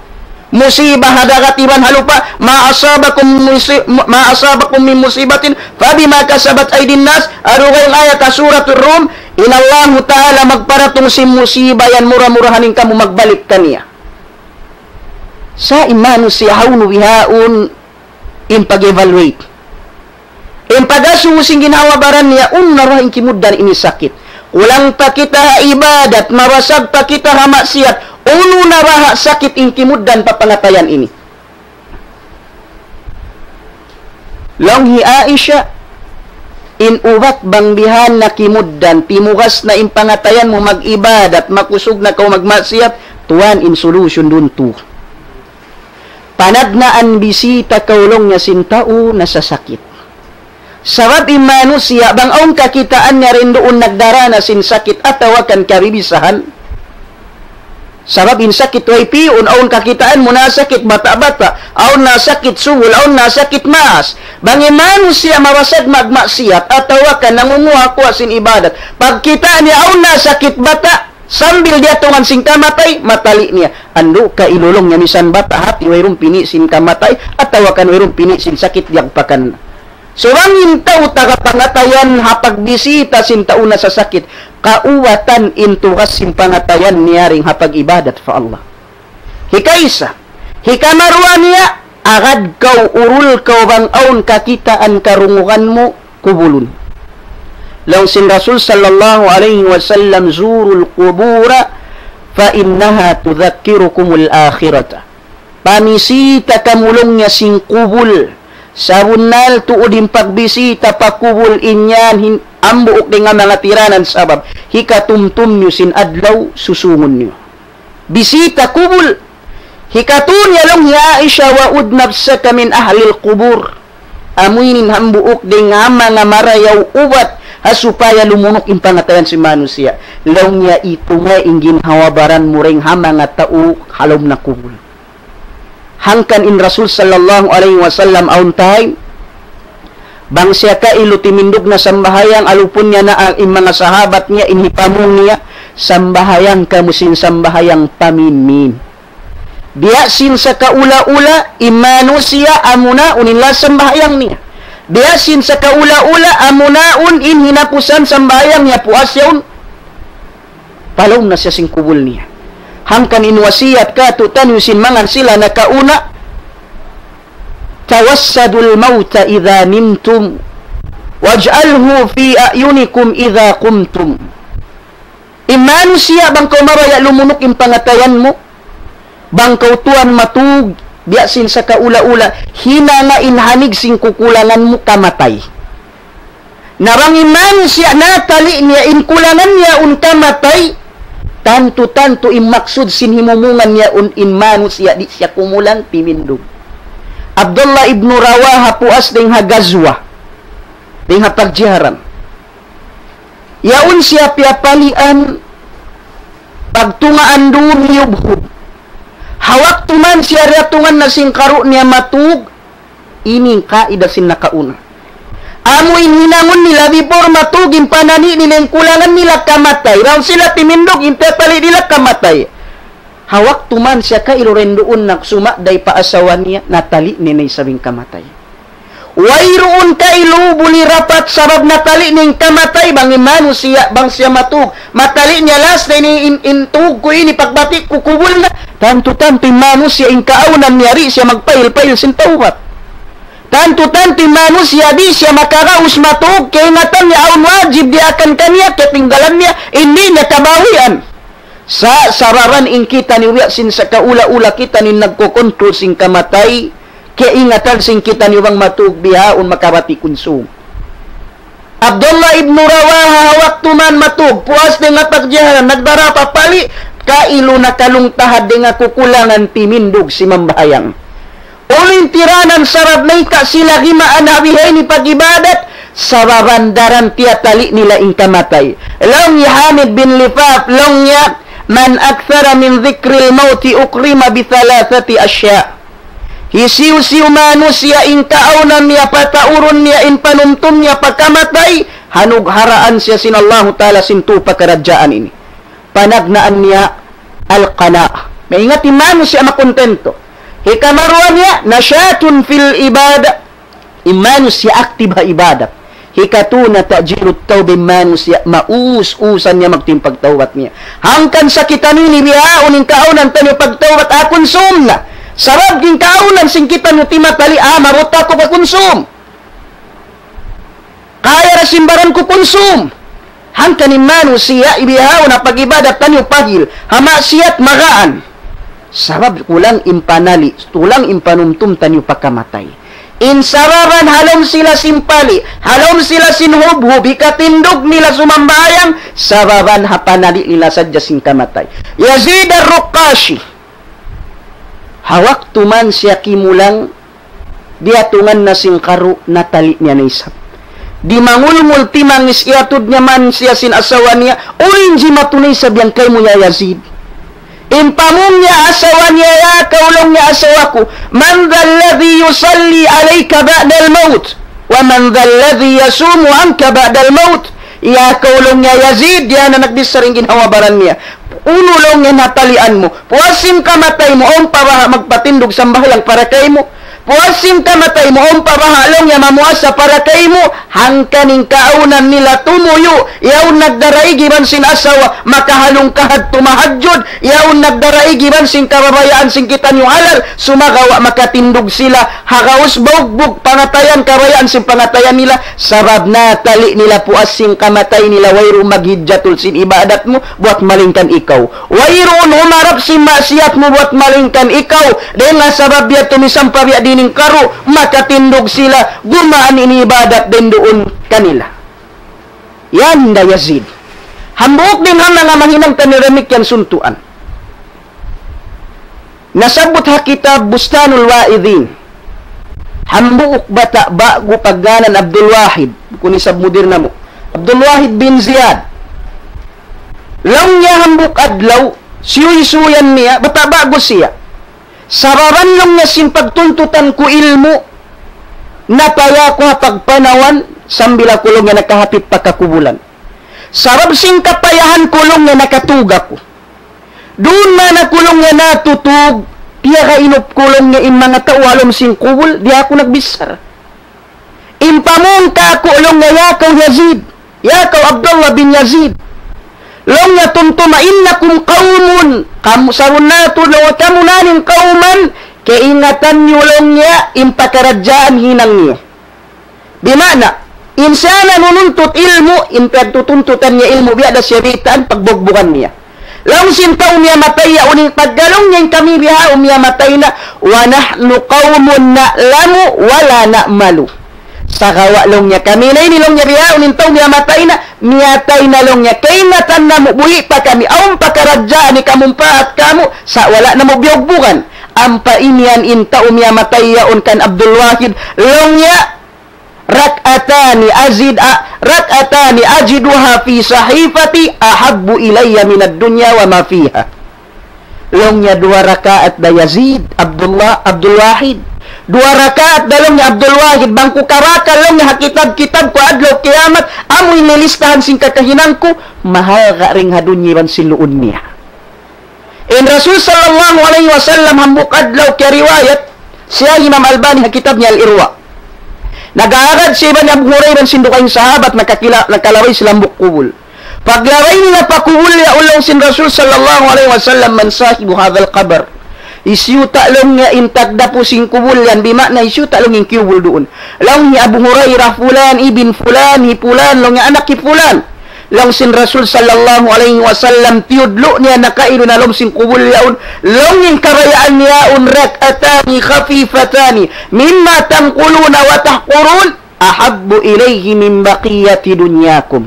Musiba ha dagat iban ha lupa', ما أصابكم مصي-، ما أصابكم من مصيبة فبما كسبت أيدي الناس, ha dugaing ayat ha Suratul Rum, in Allahu Ta'ala magparatung sin musiba yan mura-murahan in kamu magbalik kaniya. Sa' in manusiya' hawnu bihaun in pag-evaluate. In pag-asubu sin ginhawa-baran niya, unu na baha' in kimugdan ini sakit. Kulang pa kita ha ibadat, mabasag pa kita ha maksiyat, unu na baha' sakit in kimugdan pa pangatayan ini. Laung hi Aisha, In ubat bang bihan na kimugdan, timugas na in pangatayan mu mag-ibadat, makusug na kaw magmaksiyat, tuwan in solution duun tu. Panagnaan bisita kaw laung niya sin tau nasasakit. Sabab in manusiya' bang awn kakitaan niya dayn duun nagdarā na sin sakit atawa kan kabibisahan. Sabab in sakit way pi'un, awn kakitaan mu nasakit bata'-bata', awn nasakit subul, awn nasakit maas. Bang in manusiya' mabasag magmaksiyat atawa kan nangunguha-kuha sin ibadat, pagkita' niya awn nasakit bata', sambil diyatungan sin kamatay, matali' niya. Andu' kailu laung niya misan bata' hati wayruun pini' sin kamatay, atawa kan wayruun pini' sin sakit diyagpakan. Subay in tau taga pangatayan ha pagbisita sin tau nasasakit, kaubatan in tugas sin pangatayan niya dayn ha pag-ibadat pa Allah. Hikaisa, hikamaruwa niya, agad kaw, urul kaw bang awn kakitaan karungugan mu, kubulun. Laung sin Rasul sallallahu alayhi wasallam, زوروا القبور فإنها تذكركم الآخرة. Pamisita kamu laung niya sin kubul. Sabunnal tuud in pagbisita pa kubul in yan hin-, hambuuk dayn ha manga tiranan sabab hikatumtum niyu sin adlaw susungun niyu. Bisita kubul. Hikatu niya laung hi Aisha, وعد نفسك من أهل القبور. Amu ini in hambuuk dayn ha manga marayaw ubat ha supaya lumunuk in pangatayan sin manusiya'. Laung niya, itunga in ginhawa-baran mu dayn ha manga tau ha lawm na kubul. Hangkan in Rasul sallallahu alayhi wasallam awn time, bang siya kailu timindug na sambahayang, alupun niya na in manga sahabat niya, in hipamung niya, sambahayang kamu sin sambahayang paminmin. Biya' sin sakaula-ula, in manusiya' amuna unu in last sambahayang niya. Biya' sin sakaula-ula, amuna unu in hinapusan sambahayang niya, puas yaun. Palawm na siya sin kubul niya. Hangkan in wasiyat kātu'niyu sin manga sila nakauna, توسدوا الموت إذا نمتم واجعلوه في أعينكم إذا قمتم. In manusiya' bang kaw mabaya' lumunuk in pangatayan mu, bang kaw tuwan matug, biya' sin sakaula-ula, hinanga in hamig sin kukulangan mu kamatay. Na bang in manusiya' natali' niya in kulangan niya yaun kamatay, tantu-tantu in maksud sin himumungan niya yaun in manusiya' di' siya kumulang timindug. Abdullah ibnu Rawaha puas dayn ha gazwa, dayn ha pagjiharan. Yaun siya piyapalian, pagtungaan duun hiyubhub. Ha waktu man siya diyatungan na sin karu' niya matug, ini in kaida sin nakauna. Amu in hinangun nila before matug in panani' nila in kulangan nila kamatay. Bang sila timindug in piyapali' nila kamatay. Ha waktu man siya kailu dayn duun nagsumagday pa asawa niya, natali' niya na isab in kamatay. Wayruun kailu buli rapat sabab natali' niya in kamatay, bang in manusiya', bang siya matug. Matali' niya last na ini in, in tug ku ini pagbati' ku kubul na. Tantu-tantu in manusiya' in kaawnan niya di' siya magpahil-pahil sin tawbat. Tantu-tantu in manusiya' di' siya makaraus matug, kaingatan niya awn wajib diyaak kaniya, katinggalan niya, di' niya kabawian. Sa' sababan in kitaniyu biya' sin sakaula-ula kitaniyu nagkukontrol sin kamatay, kaingatan sin kitaniyu bang matug bihaun makabati' kunsum. Abdullah ibnu Rawaha ha waktu man matug, puas dayn ha pagjiharan, nagdara pa pali', kailu nakalungtahad dayn ha kukulangan timindug simambahayang. Unu in tiranan sabab mayta' sila gimaan ha bihaini pag-ibadat, sababan daran tiyatali' nila in kamatay. Laung hi Hamid bin Lifaf, laung niya, من أكثر من ذكر الموت أكرم بثلاثة أشياء. Hisiyu-siyu manusiya' in kaawnan niya pataurun niya in panumtum niya pa kamatay, hanugharaan siya sin Allahu Ta'ala sin tū pakaradjaan ini. Panagnaan niya القناعة. Maingat in manusiya' makuntento. Hikamaruwa niya, نشاط في العبادة. In manusiya' aktib ha ibadat. Hikatū na تعجيل التوبة, in manusiya' maus-usan niya magtuy in pagtawbat niya. Hangkan sa kitaniyu ini bihaun in kaawnan taniyu pagtawbat, ah, kunsum na. Sabab in kaawnan sin kitaniyu timatali', ah, mabuta' ku kakunsum. Kaya da sin baran ku kunsum. Hangkan in manusiya' bihaun ha pag-ibadat taniyu pahil, ha maksiyat magaan. Sabab kulang in panali', kulang in panumtum taniyu pa kamatay. In sababan ha lawm sila sin pali', ha lawm sila sin hubhub, hikatindug nila sumambahayang, sababan ha panali' nila sadja sin kamatay. Yazid ar-Ruqashi, ha waktu man siya kimulang, diyatungan na sin karu', natali' niya na isab. Dimangulngul timangis, iyatud niya man siya sin asawa niya, "Uy, in jimatu na isab yan kaymu ya Yazid." In pamung niya asawa niya, "Ya kaw," laung niya, "asawa ku, من ذا الذي يصلي عليك بعد الموت؟ ومن ذا الذي يصوم عنك بعد الموت؟" "Ya kaw," laung niya, "Yazid," yan na nagbichara in ginhawa-baran niya. "Unu," laung niya, "natalian mu? Puas sin kamatay mu, awn pa baha' magpatindug sambahayang para kaymu? Puas sin kamatay mu, awn pa baha'," laung niya, "mamuasa para kaymu?" Hangkan in kaawnan nila tumuyu', yaun nagdaraig iban sin asawa, makahalung kahadtu mahadjud, yaun nagdaraig iban sin kababayaan sin kitaniyu halal, sumagawa' makatindug sila, ha gaus baugbug pangatayan, kabayaan sin pangatayan nila, sabab natali' nila puas sin kamatay nila, wayruun maghijjatul sin ibadat mu, buwat malaingkan ikaw. Wayruun humarap sin maksiyat mu, buwat malaingkan ikaw. Dayn ha sabab yadtu misan pa biya' diin in karu', makatindug sila, gumaan in ibadat dayn duun kanila. Yan da Yazid. Hambuuk dayn ha manga mahinang taniyu damikkiyan suntuan. Nasabbut ha kitab Bustanul Wa'idhin. Hambuuk bata' ba'gu pagngānan Abdul Wahid. Bukun isab mudir namu'. Abdul Wahid bin Ziyad. Laung niya hambuuk adlaw, siyuysuyan niya, bata' ba'gu siya. Sababan laung niya sin pagtuntutan ku ilmu', napaya aku ha pagpanawan, sambil aku laung niya nakahapit pa kakubulan. Sabab sin kapayahan ku laung niya nakatug aku. Duun man aku laung niya natutug, piyagainup ku laung niya in manga tau ha lawm sin kubul, di' aku nagbichara. In pamung kāku' laung niya, "Ya kaw Yazid, ya kaw Abdullah bin Yazid," laung niya, "tumtuma, إنكم قوم, kamu sabunnal tuud laung niya, kamu na in قوما, kaingatan niyu laung niya in pakaradjaan hinang niyu." Bima'na, in siya nanununtut ilmu', in pagtutuntutan niya ilmu', biya' da siya bitaan, pagbugbugan niya. Laung sin tau miyamatay yaun, in pagga laung niya in kami bihaun miyamatay na, ونحن قوم نعلم ولا نعمل. Sagawa' laung niya kami na ini laung niya bihaun in tau miyamatay na, miyatay na laung niya, kaingatan namu' buhi' pa kami, awn pakaradjaan hikamumpaat kāmu', sa' wala' namu' biyugbugan. Ampa imiyan in tau miyamatay yaun kan Abdul Wahid, laung niya, ركعتان أزد، ركعتان أجدها في صحيفتي أحب إلي من الدنيا وما فيها. Laung niya duwa rakaat da Yazid, Abdullah, Abdul Wahid. Duwa rakaat da laung niya Abdul Wahid, bang ku karakal laung niya ha kitab-kitab ku adlaw kiyamat, amu in lilistahan sin kakahinang ku, mahalga' dayn ha dunya iban sin luun niya. In Rasul sallallahu alayhi wasallam hambuuk adlaw kiyariwayat, siya Imam Albani ha kitab niya Al-Irwa. Nag-aagad siya iban Abu Hurairah sin dugaing sahabat nakakila-, nakalabay sila hambuuk kubul. Paglabay nila pa kubul yaun laung sin Rasul sallallahu alayhi wasallam, من صاحب هذا القبر؟ Hisiyu ta laung niya in tagdapu sin kubul yan, bima'na hisiyu ta laung in kiyubul duun. Laung hi Abu Hurairah, fulan ibn fulan, hi fulan, laung niya anak hi fulan. Laung sin Rasul sallallahu alayhi wasallam, tiyudlu' niya nakainu na lawm sin kubul yaun. Laung in kabayaan niya yaun, ركعتان خفيفتان مما تنقلون وتحقرون أحب إلي من بقية دنياكم.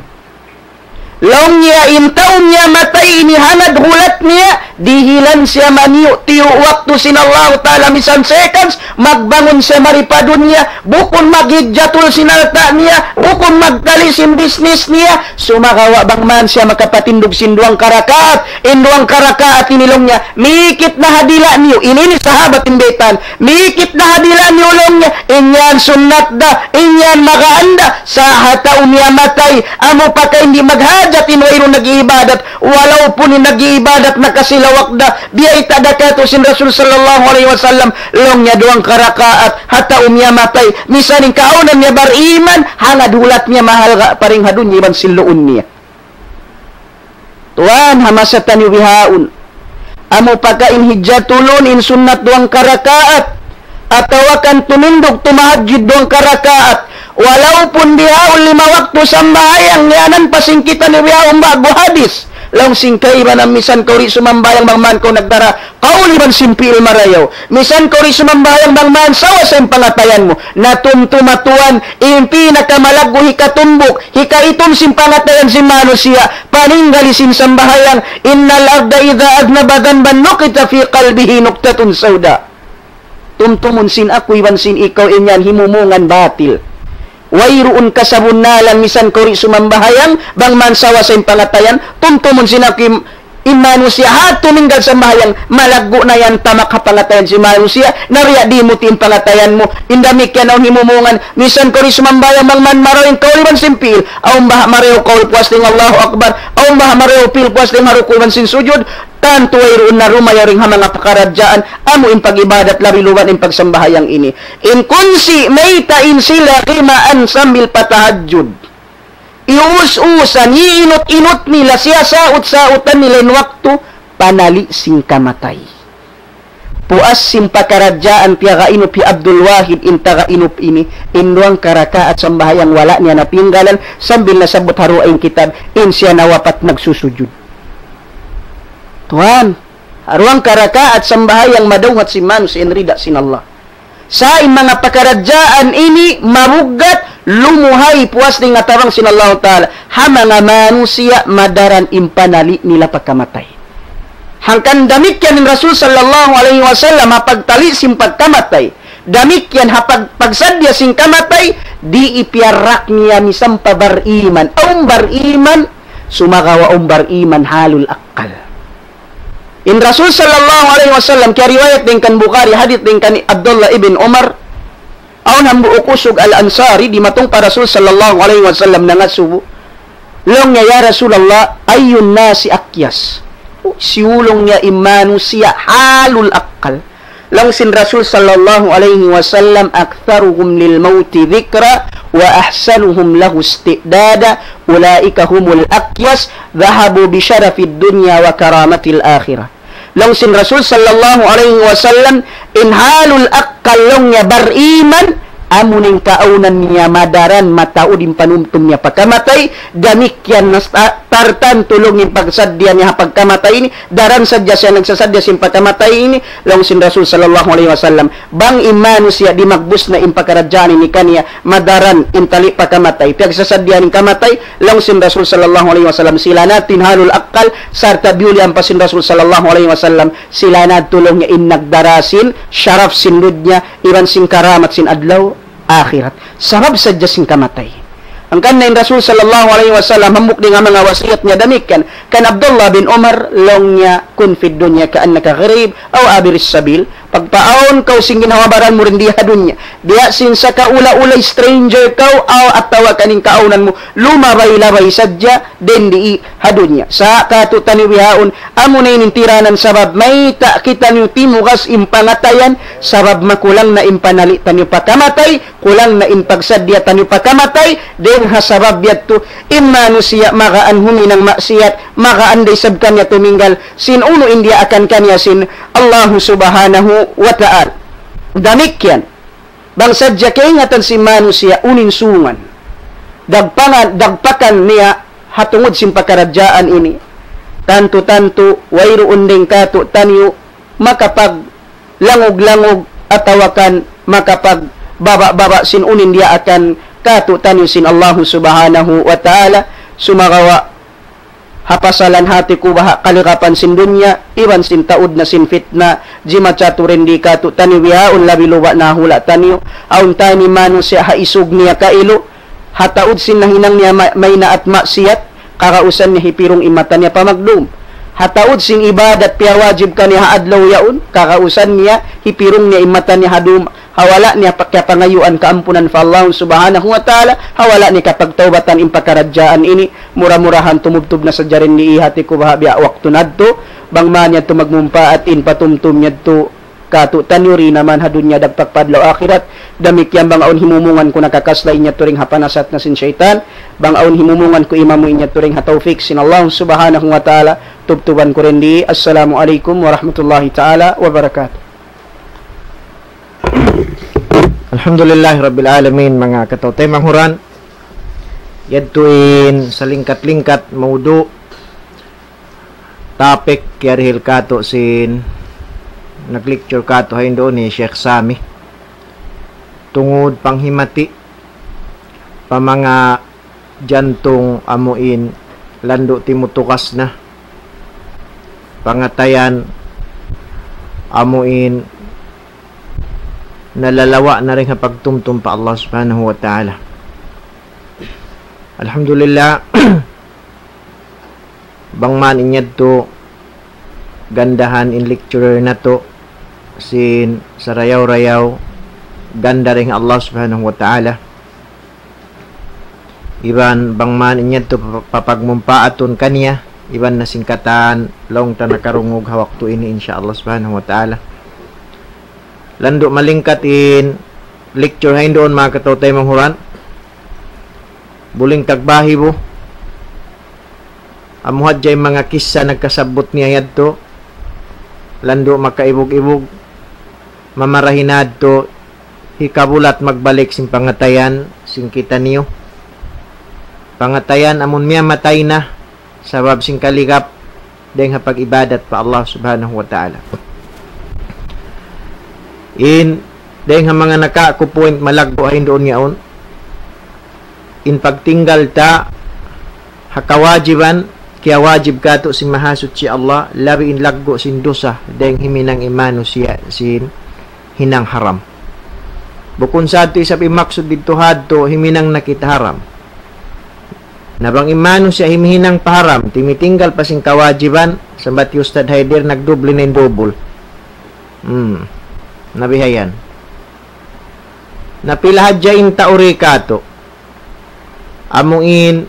Laung niya in tau miyamatay ini hangad hulat niya, dihilan siya maniyu'-tiyu' waktu sin Allahu Ta'ala misan seconds, magbangun siya mari pa dunya, bukun maghijjatul sin alta' niya, bukun magtali sin business niya, sumagawa' bang man siya makapatindug sin duwang karakaat, in duwang karakaat ini laung niya, mikit na ha dila' niyu, ini, ini sahabat in baytaan, mikit na ha dila' niyu laung niya, in yan sunnat da, in yan magaan da, sa' ha tau miyamatay, amu pa ka in di' maghajat in wayruun nag-iibadat, walaupun in nag-iibadat nakasilawak da, biyayta' da katu' sin Rasul sallallahu alayhi wasallam, laung niya duwang karakaat, ha tau miyamatay, misan in kaawnan niya bariman, hangad hulat niya mahalga' pa dayn ha dunya iban sin luun niya. Tuwan, ha masa taniyu bihaun. Amu pa ka in hijjatulun in sunnat duwang karakaat. Atawa kan tumindug tumahajjud duwang karakaat. Walaupun bihaun lima waktu sambahayang yaun pa sin kitaniyu bihaun ba'gu hadis. Laung sin kaibanan, misan kaw di' sumambahayang bang man kaw nagdara kaul iban sin pi'il marayaw. Misan kaw di' sumambahayang bang man sawa sa in pangatayan mu. Na tumtuma tuwan, in pinakamalaggu' hikatumbuk, hikaitum sin pangatayan sin manusiya', paninggali sin sambahayang, إن العبد إذا أذنب ذنبا نكتت في قلبه نكتة سوداء. Tumtumun sin aku iban sin ikaw in yan himumungan batil. Wayruun kasabunnalan misan kaw di' sumambahayang, bang man sawa sa in pangatayan, tumtumun sin aku in, in manusiya' ha tuminggal sambahayang, malaggu' na yan tamak ha pangatayan sin manusiya', na biya' diin mu ti in pangatayan mu, in damikkiyan awn himumungan, misan kaw di' sumambahayang bang man marayaw in kaul iban sin pi'il, awn baha' marayaw kaul puas dayn Allahu Akbar, awn baha' marayaw pi'il puas dayn ha ruku' iban sin sujud, tantu wayruun na dumayaw dayn ha manga pakaradjaan, amu in pag-ibadat labi luba' in pagsambahayang ini. In kunsi' mayta' in sila kimaan sambil pa tahajjud. Ius-usan, iinut-inut nila, siyasaut-sautan nila in waktu, panali' sin kamatay. Puas sin pakaradjaan piyagainup hi Abdul Wahid in tagainup ini, in duwang karakaat sambahayang wala' niya napinggalan, sambil nasabbut ha dugaing kitab, in siya nawapat nagsusujud. Tuwan, ha duwang karakaat sambahayang madawhat sin manusiya' in rida sin Allah. Sa' in manga pakaradjaan ini mabuggat, lumuhay puas dayn ha tabang sin Allahu Ta'ala. Ha manga manusiya' madaran in panali' nila pagkamatay. Hangkan damikkiyan in Rasul sallallahu alayhi wasallam ha pagtali' sin pagkamatay. Damikkiyan ha pag-, pagsadja sin kamatay, di' ipiyarrak niya misan pa bariman. Awn bariman, sumagawa' awn bariman halul akkal. In Rasul sallallahu alayhi wasallam, kiyariwayat dayn kan Bukhari, hadith dayn kan Abdullah ibn Umar, awn hambuuk usug Al-Ansari, dimatung pa Rasul sallallahu alayhi wasallam nangasubu. Laung niya, "Ya Rasulullah, أي الناس أكيس؟" Hisiyu laung niya in manusiya' halul akkal? Laung sin Rasul sallallahu alayhi wasallam, أكثرهم للموت ذكرا وأحسنهم له استعدادا أولئك هم الأكياس ذهبوا بشرف الدنيا وكرامة الآخرة. Laung sin Rasul sallallahu alayhi wasallam, in halul akkal laung niya bariman, amu in kaawnan niya madaran mataud in panumtum niya pagkamatay, damikkiyan na sa-, tartantu laung in pagsadja niya ha pagkamatay ini, daran sadja siya nagsasadja sin pagkamatay ini, laung sin Rasul sallallahu alayhi wasallam, bang in manusiya' di' magbus na in pakaradjaan ini kaniya, madaran in tali' pagkamatay, piyagsasadja in kamatay, laung sin Rasul sallallahu alayhi wasallam, sila na in halul akkal, sarta' biyulian pa sin Rasul sallallahu alayhi wasallam, sila na laung niya in nagdara sin sharaf sin dunya, iban sin karamat sin adlaw akhirat. Sabab sadja sin kamatay. Hangkan na in Rasul sallallahu alayhi wasallam, hambuuk dayn ha manga wasiyat niya damikkiyan, kan Abdullah bin Umar, laung niya, كن في الدنيا كأنك غريب أو عابر سبيل. Pagpaawn kaw sin ginhawa-baran mu dayn di ha dunya. Biya' sin sakaula-ula stranger kaw, aw atawa kan in kaawnan mu, lumabay-labay sadja dayn di ha dunya. Sa' katu'taniyu bihaun, amu na ini in tiranan sabab mayta' kitaniyu timugas in pangatayan, sabab makulang na in panali' taniyu pagkamatay, kulang na in pagsadja taniyu pagkamatay, dayn ha sabab yadtu, in manusiya' magaan huminang maksiyat, magaan da isab kaniya tuminggal, sin unu in diyaakan kaniya sin Allahu Subhanahu wa Ta'ala. Damikkiyan, bang sadja kaingatan sin manusiya' unu in sungan, dagpangan, dagpakan niya ha tungud sin pakaradjaan ini, tantu-tantu, wayruun dayn katu'taniyu makapaglangug-langug atawa kan makapagbaba'-baba' sin unu in diyaakan katu'taniyu sin Allahu Subhanahu wa Ta'ala, sumagawa' ha pasalan hati ku baha' kaligapan sin dunya, iban sin taud na sin fitna, jimatu dayn di katu'taniyu bihaun labi luba' na hula' taniyu, awn tani manusiya' ha isug niya kailu, ha taud sin nahinang niya ma-, maynaat maksiyat, kagausan niya hipirung in mata niya pa magdum. Ha taud sin ibadat piyawajib kaniya ha adlaw yaun, kagausan niya hipirung niya in mata niya ha dum, ha wala' niya pa-, kiyapangayuan kaampunan pa Allah Subhanahu wa Ta'ala, ha wala' niya kapagtaubatan in pakaradjaan ini, mura-murahan tumubtub na sadja dayn di hati ku baha' biya' waktu natu', bang man yadtu magmumpaat in patumtum yadtu, katu'taniyu di' na man ha dunya dagpak pa adlaw akhirat, damikkiyan bang awn himumungan ku nakakasla in yadtu dayn ha panasat na sin saytan, bang awn himumungan ku imamu in yadtu dayn ha tawfik sin Allah Subhanahu wa Ta'ala, tubtuban ku dayn di. Assalamu alaykum warahmatullahi ta'ala wabarakatuh. Alhamdulillahi Rabbil Alamin, manga kataw-taymanghuran. Yadtu in salingkat-lingkat mawdu', topic kiyarihil katu' sin nag-lecture katu' ha Indo ni Sheikh Sami. Tungud panghimati pa manga jantung amuin landu' timutukas na. Pangatayan amuin nalalawa' na dayn ha pagtumtum pa Allah Subhanahu wa Ta'ala. Alhamdulillah, bang man in yadtu gandahan in lecturer natu' sin sarayaw-rayaw ganda dayn ha Allah Subhanahu wa Ta'ala. Iban bang man in yadtu papa-, papagmumpaatun kaniya, iban na sin katan laung ta nakarungug ha waktu ini, insya Allah Subhanahu wa Ta'ala. Landu' malingkat in lecture ha Indo, manga kataw-taymanghuran. Buling tagbahi bu. Amu hadja in manga kissa nagkasabbut niya yadtu. Landu' makaibug-ibug. Mamarahi na yadtu hikabulat magbalik sin pangatayan sin kitaniyu. Pangatayan amun miyamatay na sabab sin kaligap dayn ha pag-ibadat pa Allah Subhanahu wa Ta'ala. In dayn ha manga nakaku point malaggu' ha Indo yaun, in pagtinggal ta ha kawajiban kiyawajib katu' sin Mahasuchi Allah, labi in laggu' sin dusa dayn himinang in manusiya' sin hinang haram. Bukun sa yadtu isab in maksud didtu ha yadtu himinang na kita haram. Na bang in manusiya' himihinang pa haram, timitinggal pa sin kawajiban, sambat hi Ustad Haider, nagdubli na in dubul. Hmm. Na bihayan. Na pila hadja in tau di katu'. Amu in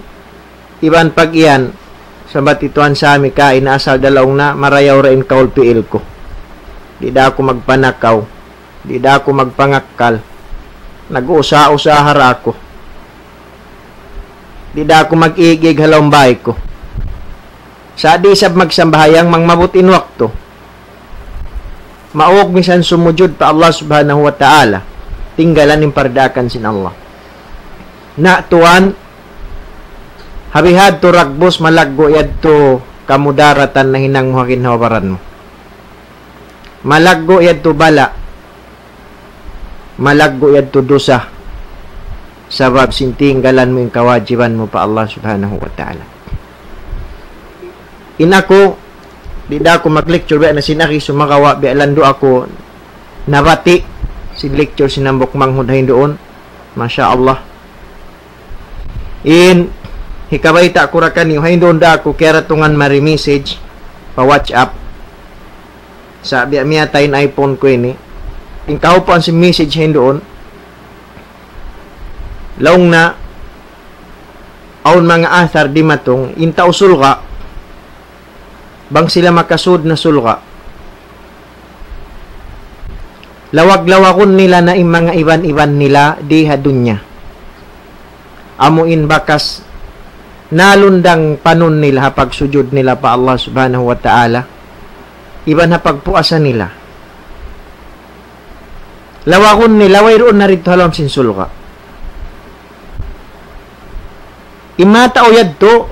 iban pag-iyan, sambat hi Tuan Sami kaina asal da laung na marayaw ra in kaul piil ku. Di' da aku magpanakaw. Di' da aku magpangakkal. Nag-usaha-usaha ra aku. Di' da aku mag-ig-ig ha lawm bāy ku. Sa' di' isab magsambahayang bang maabut in waktu. Maug misan sumujud pa Allah Subhanahu wa Ta'ala. Tinggalan in pardaakan sin Allah. Na tuwan, ha bihadtu ragbus malaggu' yadtu kamudaratan nahinang mu ha ginhawa-baran mu. Malaggu' yadtu bala'. Malaggu' yadtu dusa. Sabab sin tinggalan mu in kawajiban mu pa Allah Subhanahu wa Ta'ala. In aku, di' da aku mag-lecture biya' na sin akhi, sumagawa' biya' landu' aku nabati' sin lecture sin hambuuk manghud ha Indo. Masha Allah. In hikabayta' ku ra kaniyu, ha Indo da aku kiyaratungan mari message pa WhatsApp. Sa' biya' miyatay in iPhone ku ini. In kahupuan sin message ha Indo, laung na awn manga athar dimatung, in tau surga', bang sila makasud na surga', lawag-lawagun nila na in manga iban-iban nila di ha dunya. Amu in bakas nalundang panun nila ha pagsujud nila pa Allah Subhanahu wa Ta'ala, iban ha pagpuasa nila. Lawagun nila, wayruun na didtu ha lawm sin surga'. In manga tau yadtu,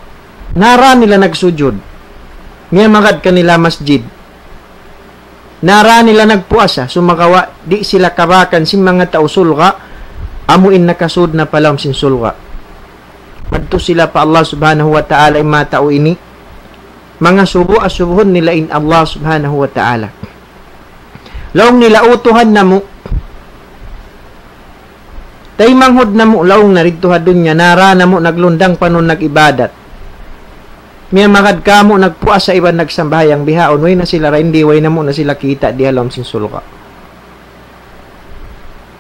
nara nila nagsujud. Miyamagad kanila masjid. Nara nila nagpuasa, sumagawa' di' sila kabakan sin manga tau surga', amu in nakasud na pa lawm sin surga'. Madtu sila pa Allah Subhanahu wa Ta'ala in manga tau ini. Mangasubu-asubuhun nila in Allah Subhanahu wa Ta'ala. Laung nila, "O Tuhan namu', taymanghud namu' laung na didtu ha dunya, nara namu' naglundang panun nag-ibadat. Miyamagad kamu' nagpuasa iban nagsambahayang bihaun, way na sila ra, di' way namu' na sila kita' di ha lawm sin surga'."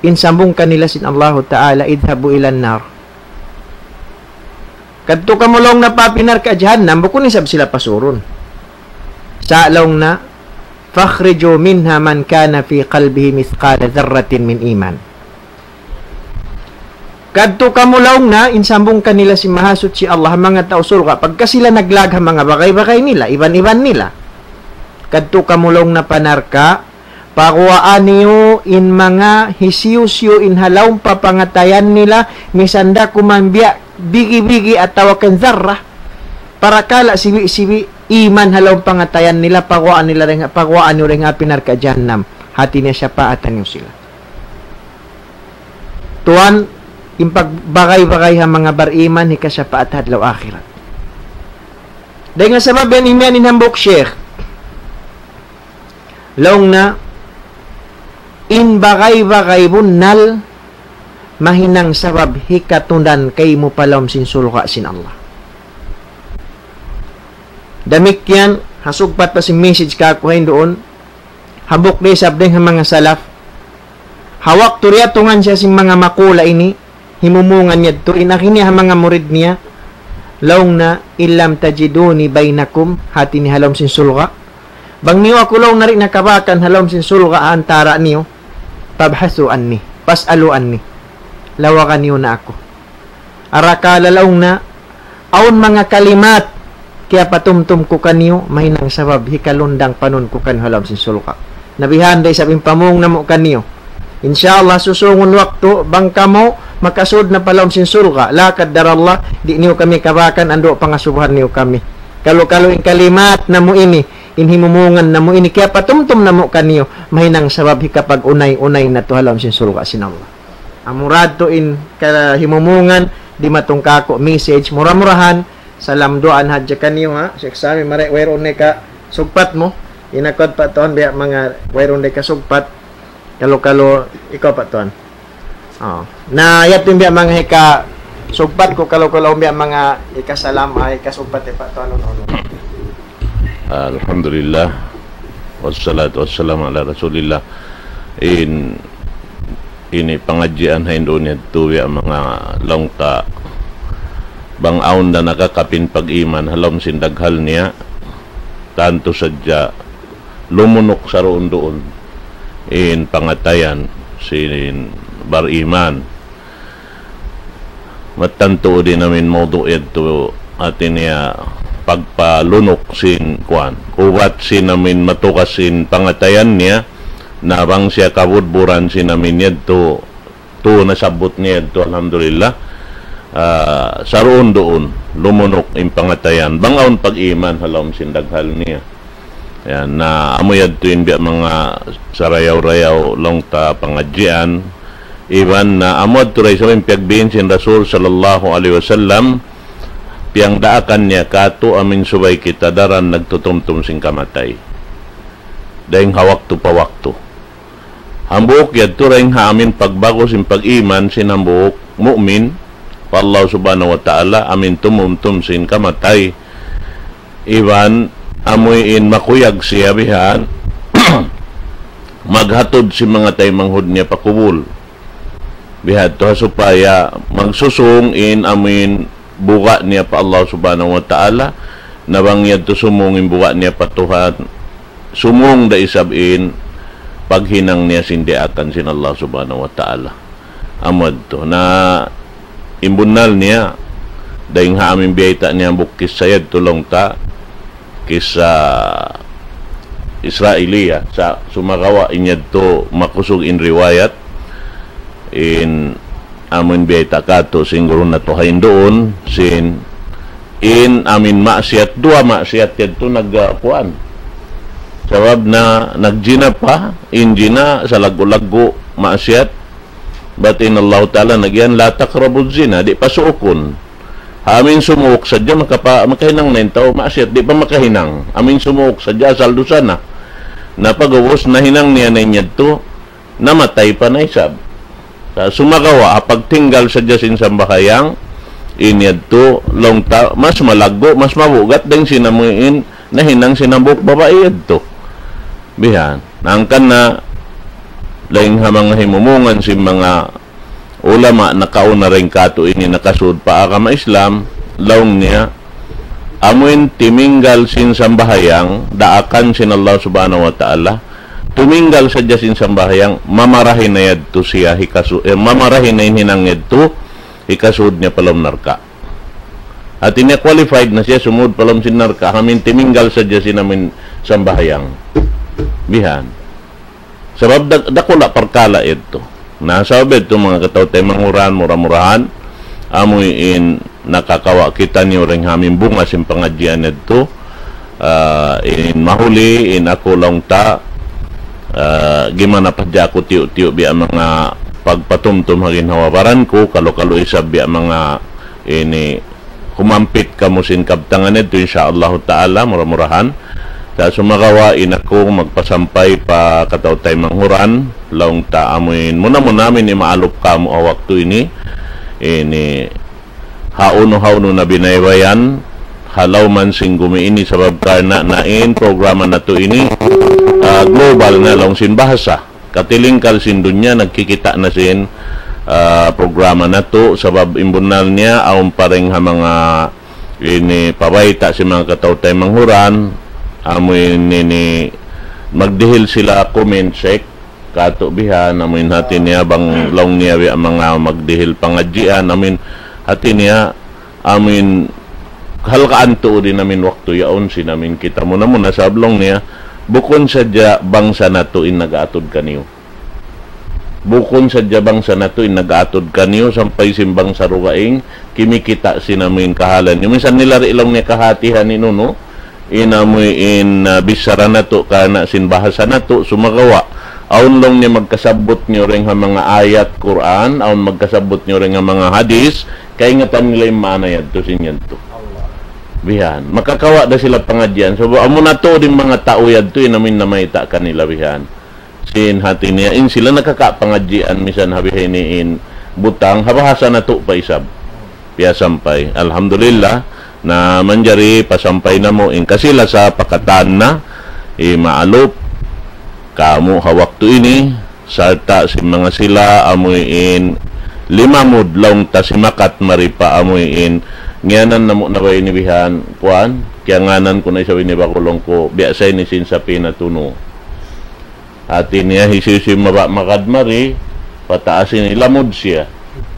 In sambung kanila sin Allahu Ta'ala, "اذهبوا إلى النار." Kadtu kamu laung na pa api narka' jahannam, bukun isab sila pasurun. Sa' laung na, "فاخرجوا منها من كان في قلبه مثقال ذرة من إيمان." Kadtu kamu laung na, in sambung kanila sin Mahasuchi Allah, manga tau surga', pagka sila naglag ha manga bagay-bagay nila, iban-iban nila. Kadtu kamu laung na pa narka', paguwaa niyu in manga hisiyu-siyu in ha lawm pa pangatayan nila, misan da kuman biya' bigi-bigi atawa kan zarra, parakala' sibi'-sibi', iman ha lawm pangatayan nila, paguwaan nila dayn, paguwaan niyu dayn ha api narka' jahannam. Hati niya siyapaatan niyu sila. Tuwan, in pagbagay-bagay ha manga bariman, hikasapaat ha adlaw akhirat. Dayn ha sabab yan imiyan in hambuuk sheikh. Laung niya, in bagay-bagay bunnal, mahinang sabab hikatundan kaymu pa lawm sin surga' sin Allah. Damikkiyan, ha sugpat pa sin message kāku' ha yan duun, hambuuk da isab dayn ha manga salaf. Ha waktu diyatungan siya sin manga makula' ini, himumungan niya yadtu, in agi niya ha manga murid niya, laung niya, "In lam tajiduni bainakum," hati niya ha lawm sin surga'. Bang niyu aku laung niya di' nakabakan ha lawm sin surga' ha antara' niyu, "fabhasu anni, fas'alu anni." Lawaga niyu na aku. Arakala' laung niya, awn manga kalimat, kiyapatumtum ku kaniyu, mahinang sabab hikalundang panun ku kaniyu ha lawm sin surga'. Na bihan da isab in pamung namu' kaniyu. Insya Allah, susungun waktu, bang kamu makasud na pa lawm sin surga', la qaddar Allah, di' niyu kami kabakan, andu' pangasubuhan niyu kami. Kalu-kalu in kalimat namu' ini, in himumungan namu' ini, kiyapatumtum namu' kaniyu, mahinang sabab hikapag-unay-unay natu' ha lawm sin surga' sin Allah. Amura yadtu in kahimumungan, dimatung kāku' message, mura-murahan, salam duwaan hadja kaniyu, ha. Sheikh Sami, mari, wayruun na hikasugpat mu. Inakud pa tuwan biya' manga wayruun na hikasugpat. Kalu-kalu, ikaw pa tuwan. Oh. Na, yadtu in biya' manga hikasugpat ku, kalu-kalu biya' manga hikasalam, ay, hikasugpat, eh, pa tuwan, unu, unu. Alhamdulillah. Wassalatu wassalamu ala Rasulillah. In, ini pangadjian ha yan duun yadtu, ya manga laung ta, bang awn da nakakapin pag-iman ha lawm sin daghal niya, tantu sadja lumunuk saruun-duun in pangatayan sin bariman. Mattan tuud in amin mawdu' yadtu, hati niya pagpalunuk sin kuwan. Ubat sin amin matugas sin pangatayan niya, na bang siya kabudburan sin amin yadtu, tu nasabbut niya yadtu, alhamdulillah. Ah, saruun-duun, lumunuk in pangatayan. Bang awn pag-iman ha lawm sin daghal niya. Yan, na amu yadtu in biya' manga sarayaw-rayaw laung ta pangadjian. Iban na amu yadtu da isab in piyagbin sin Rasul sallallahu alayhi wasallam, piyangdaakan niya kātu' amin subay kita daran nagtutumtum sin kamatay. Dayng ha waktu pa waktu. Hambuuk yadtu dayng ha amin pagbagus sin pag-iman sin hambuuk mu'min pa Allah Subhanahu wa Ta'ala, amin tumumtum sin kamatay. Iban amuin makuyag siya bihan maghatud sin manga taymanghud niya pa kubul. Bihadtu ha supaya magsusung in amuin buga' niya pa Allah Subhanahu wa Ta'ala, na bang yadtu sumung in buga' niya pa Tuhan, sumung da isab in paghinang niya sin diyaakan sin Allah Subhanahu wa Ta'ala. Amu yadtu. Na in bunnal niya, dayng ha amin biyayta' niya hambuuk kissa yadtu laung ta, kissa Israiliya, sa' sumagawa' in yadtu makusug in riwayat, in amuin biyayta' kātu' sin guru natu' ha yan duun, sin in amin maksiyat, duwa maksiyat yadtu nag-, ah, kuwan. Sabab na nagjina pa, in jina salaggu'-laggu' maksiyat, bat in Allah Ta'ala nagyan, "La taqrabuz zina," di' pasuukun. Ha amin sumuuk sadja makapa-, makahinang na in tau maksiyat, di' pa makahinang. Amin sumuuk sadja asal dusa na. Na pag'ubus nahinang niya na in yadtu, namatay pa na isab. Sa' sumagawa', ha pagtinggal sadja sin sambahayang, in yadtu, laung ta, mas malaggu', mas mabugat dayng sin amuin nahinang sin hambuuk babai yadtu. Bihan. Hangkan na, dayng ha manga himumungan sin manga ulama nakauna dayng kātu' ini nakasud pa agama Islam, laung niya, amuin timinggal sin sambahayang, daakan sin Allah Subhanahu wa Ta'ala, tuminggal sadja sin sambahayang, mamarahi na yadtu siya hikasu-, eh, mamarahi na in hinang yadtu, hikasud niya pa lawm narka'. Hati niya qualified na siya sumud pa lawm sin narka', amuin timinggal sadja sin amuin sambahayang. Bihan. Sabab dak-, dakula' parkala' yadtu. Na, sabab yadtu manga kataw-taymanghuran, mura-murahan, amuin nakakawa' kitaniyu dayng ha amin bunga sin pangadjian yadtu, Ah, in mahuli, in aku laung ta, ah, gimana pa hadja aku tiyu'-tiyu' biya' manga pagpatumtum ha ginhawa-baran ku, kalu-kalu isab biya' manga ini humampit kamu sin kabtangan yadtu, insya Allah ta'ala, mura-murahan. Sa' sumagawa' in aku magpasampay pa kataw-taymanghuran, manghuran, laung ta amuin, muna-muna amin imaalup kamu ha waktu ini, ini, hawnu-hawnu na binaybayan, ha lawm sin gumi ini sabab karna' na in programa natu' ini, ah, global na laung sin bahasa. Katilingkal sin dunya, nagkikita' na sin, ah, programa natu', sabab in bunnal niya, awn pa dayn ha manga ini pabayta' sin manga kataw-taymanghuran, amu ini, ini magdihil sila comment sec, katu' bihan, amuin hati niya bang laung niya biya' manga magdihil pangadjian, amuin hati niya, amuin halgaan tuud in amin waktu yaun sin amin kita muna-muna sabab laung niya, bukun sadja bangsa natu' in nag-aatud kaniyu. Bukun sadja bangsa natu' in nag-aatud kaniyu sampay sin bangsa dugaing kimikita' sin amuin kahalan. Minsan nila di' laung niya kahatihan in unu, in amuin, ah, bichara natu' karna' sin bahasa natu' sumagawa'. Awn laung niya magkasabbut niyu dayn ha manga ayat Qur'an, awn magkasabbut niyu dayn ha manga hadith, kaingatan nila in maana yadtu sin yadtu. Bihan. Makakawa' da sila pangadjian. Sabab amu natu' in manga tau yadtu, in amuin namayta' kanila bihan. Sin hati niya, in sila nakakapangadjian, minsan ha bihaini in butang, ha bahasa natu' pa isab. Piyasampay. Alhamdulillah, na manjari pasampay namu' in kasi-lasa pa katan na, imaalup kamu ha waktu ini, sarta' sin manga sila, amuin limamud laung ta simakat mari pa amuin, ngiyanan namu' na ba ini bihan, kuwan, kiyangānan ku na isab ini bakulong ku, biya' sa ini sin Safinatun Nuh. Hati niya hisiyu-siyu mabaya' magad mari, pataas ini lamud siya.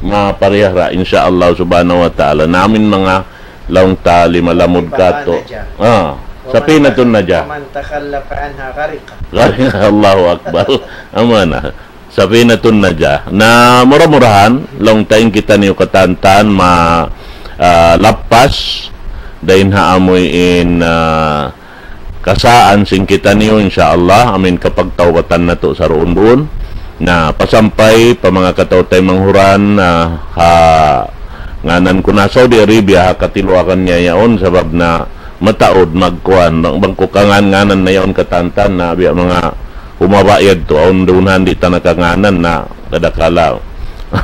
Maparihara, insya Allah subhanahu wa ta'ala. Na amin manga laung ta lima lamud katu'. Ah, Safinatun Najah. ومن تخلف عنها غرق. Allahu Akbar. Amuna. Safinatun Najah. Na mura-murahan, laung ta in kitaniyu katantan ma, ah, lappas, dayn ha amuin, ah, kasaan sin kitaniyu, insya Allah, amin kapagtawbatan natu' saruun-duun. Na, pasampay pa manga kataw-taymanghuran, ah, ha, ngānan ku na Saudi Arabia, ha katiluakan niya yaun, sabab na mataud magkuwan, bang, bang ku kangan-nganan na yaun katantan na, biya' manga humaba yadtu, awn duun handi' ta nakangānan na, kadakala,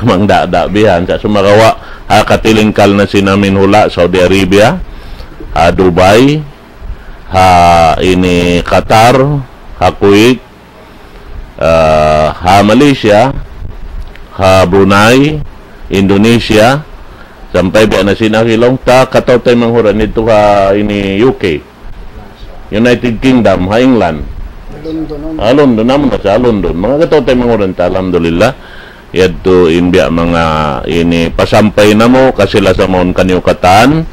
mangdada bihan, sa' sumagawa', ha katilingkal na sin amin hula', Saudi Arabia, ha Dubai, ha ini Qatar, ha Kuwait, ah, ha Malaysia, ha Brunei, Indonesia, sampay biya' na sin agi laung ta, kataw-taymanghuran didtu ha ini U K, United Kingdom, ha England. London, ha London, amu na sa London. Manga kataw-taymanghuran ta, alhamdulillah. Yadtu in biya' manga ini pasampay namu', kasi-lasa mawn kaniyu katan.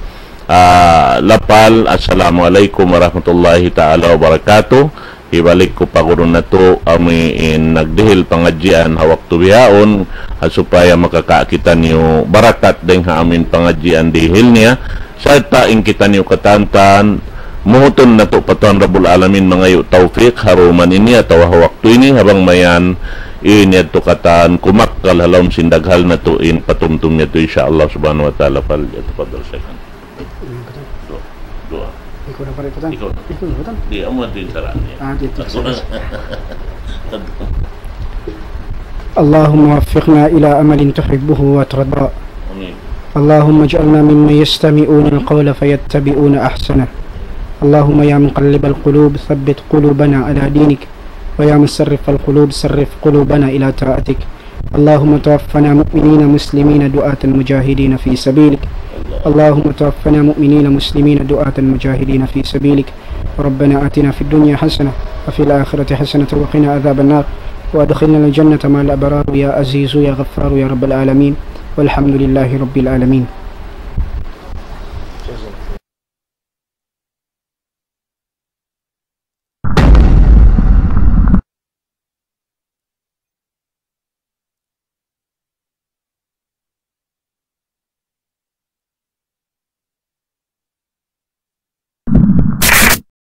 Ah, lapal, assalamualaikum warahmatullahi ta'ala wabarakatuh. Hibalik ku pa guru natu', amuin nagdihil pangadjian ha waktu bihaun, ha supaya makakawa' kitaniyu barakat dayn ha amuin pangadjian dihil niya, sarta' in kitaniyu katantan, muhutun natu' pa Tuhan Rabbul Alamin mangayu' tawfik ha duman ini atawa ha waktu ini, ha bang mayan, in yadtu katan kumakkal ha lawm sin daghal natu' in patumtum yadtu, insya Allah subhanahu wa ta'ala. Fal yatafaddal shaykhan. Duwaa. Duwaa. Ikaw na pala, ikutan. Ikaw na. Ikaw na, ikutan. Di', amu na in sara' niya. Ah, di', di', sara'. اللهم وفقنا إلى عمل تحبه وترضى. آمين. اللهم اجعلنا ممن يستمعون القول فيتبعون أحسنه. اللهم يا مقلب القلوب ثبت قلوبنا على دينك، ويا مصرف القلوب صرف قلوبنا إلى طاعتك. اللهم توفنا مؤمنين مسلمين دعاة مجاهدين في سبيلك. اللهم توفنا مؤمنين مسلمين دعاة مجاهدين في سبيلك. ربنا آتنا في الدنيا حسنة وفي الآخرة حسنة وقنا عذاب النار. وأدخلنا الجنة مع الأبرار يا عزيز يا غفار يا رب العالمين. والحمد لله رب العالمين.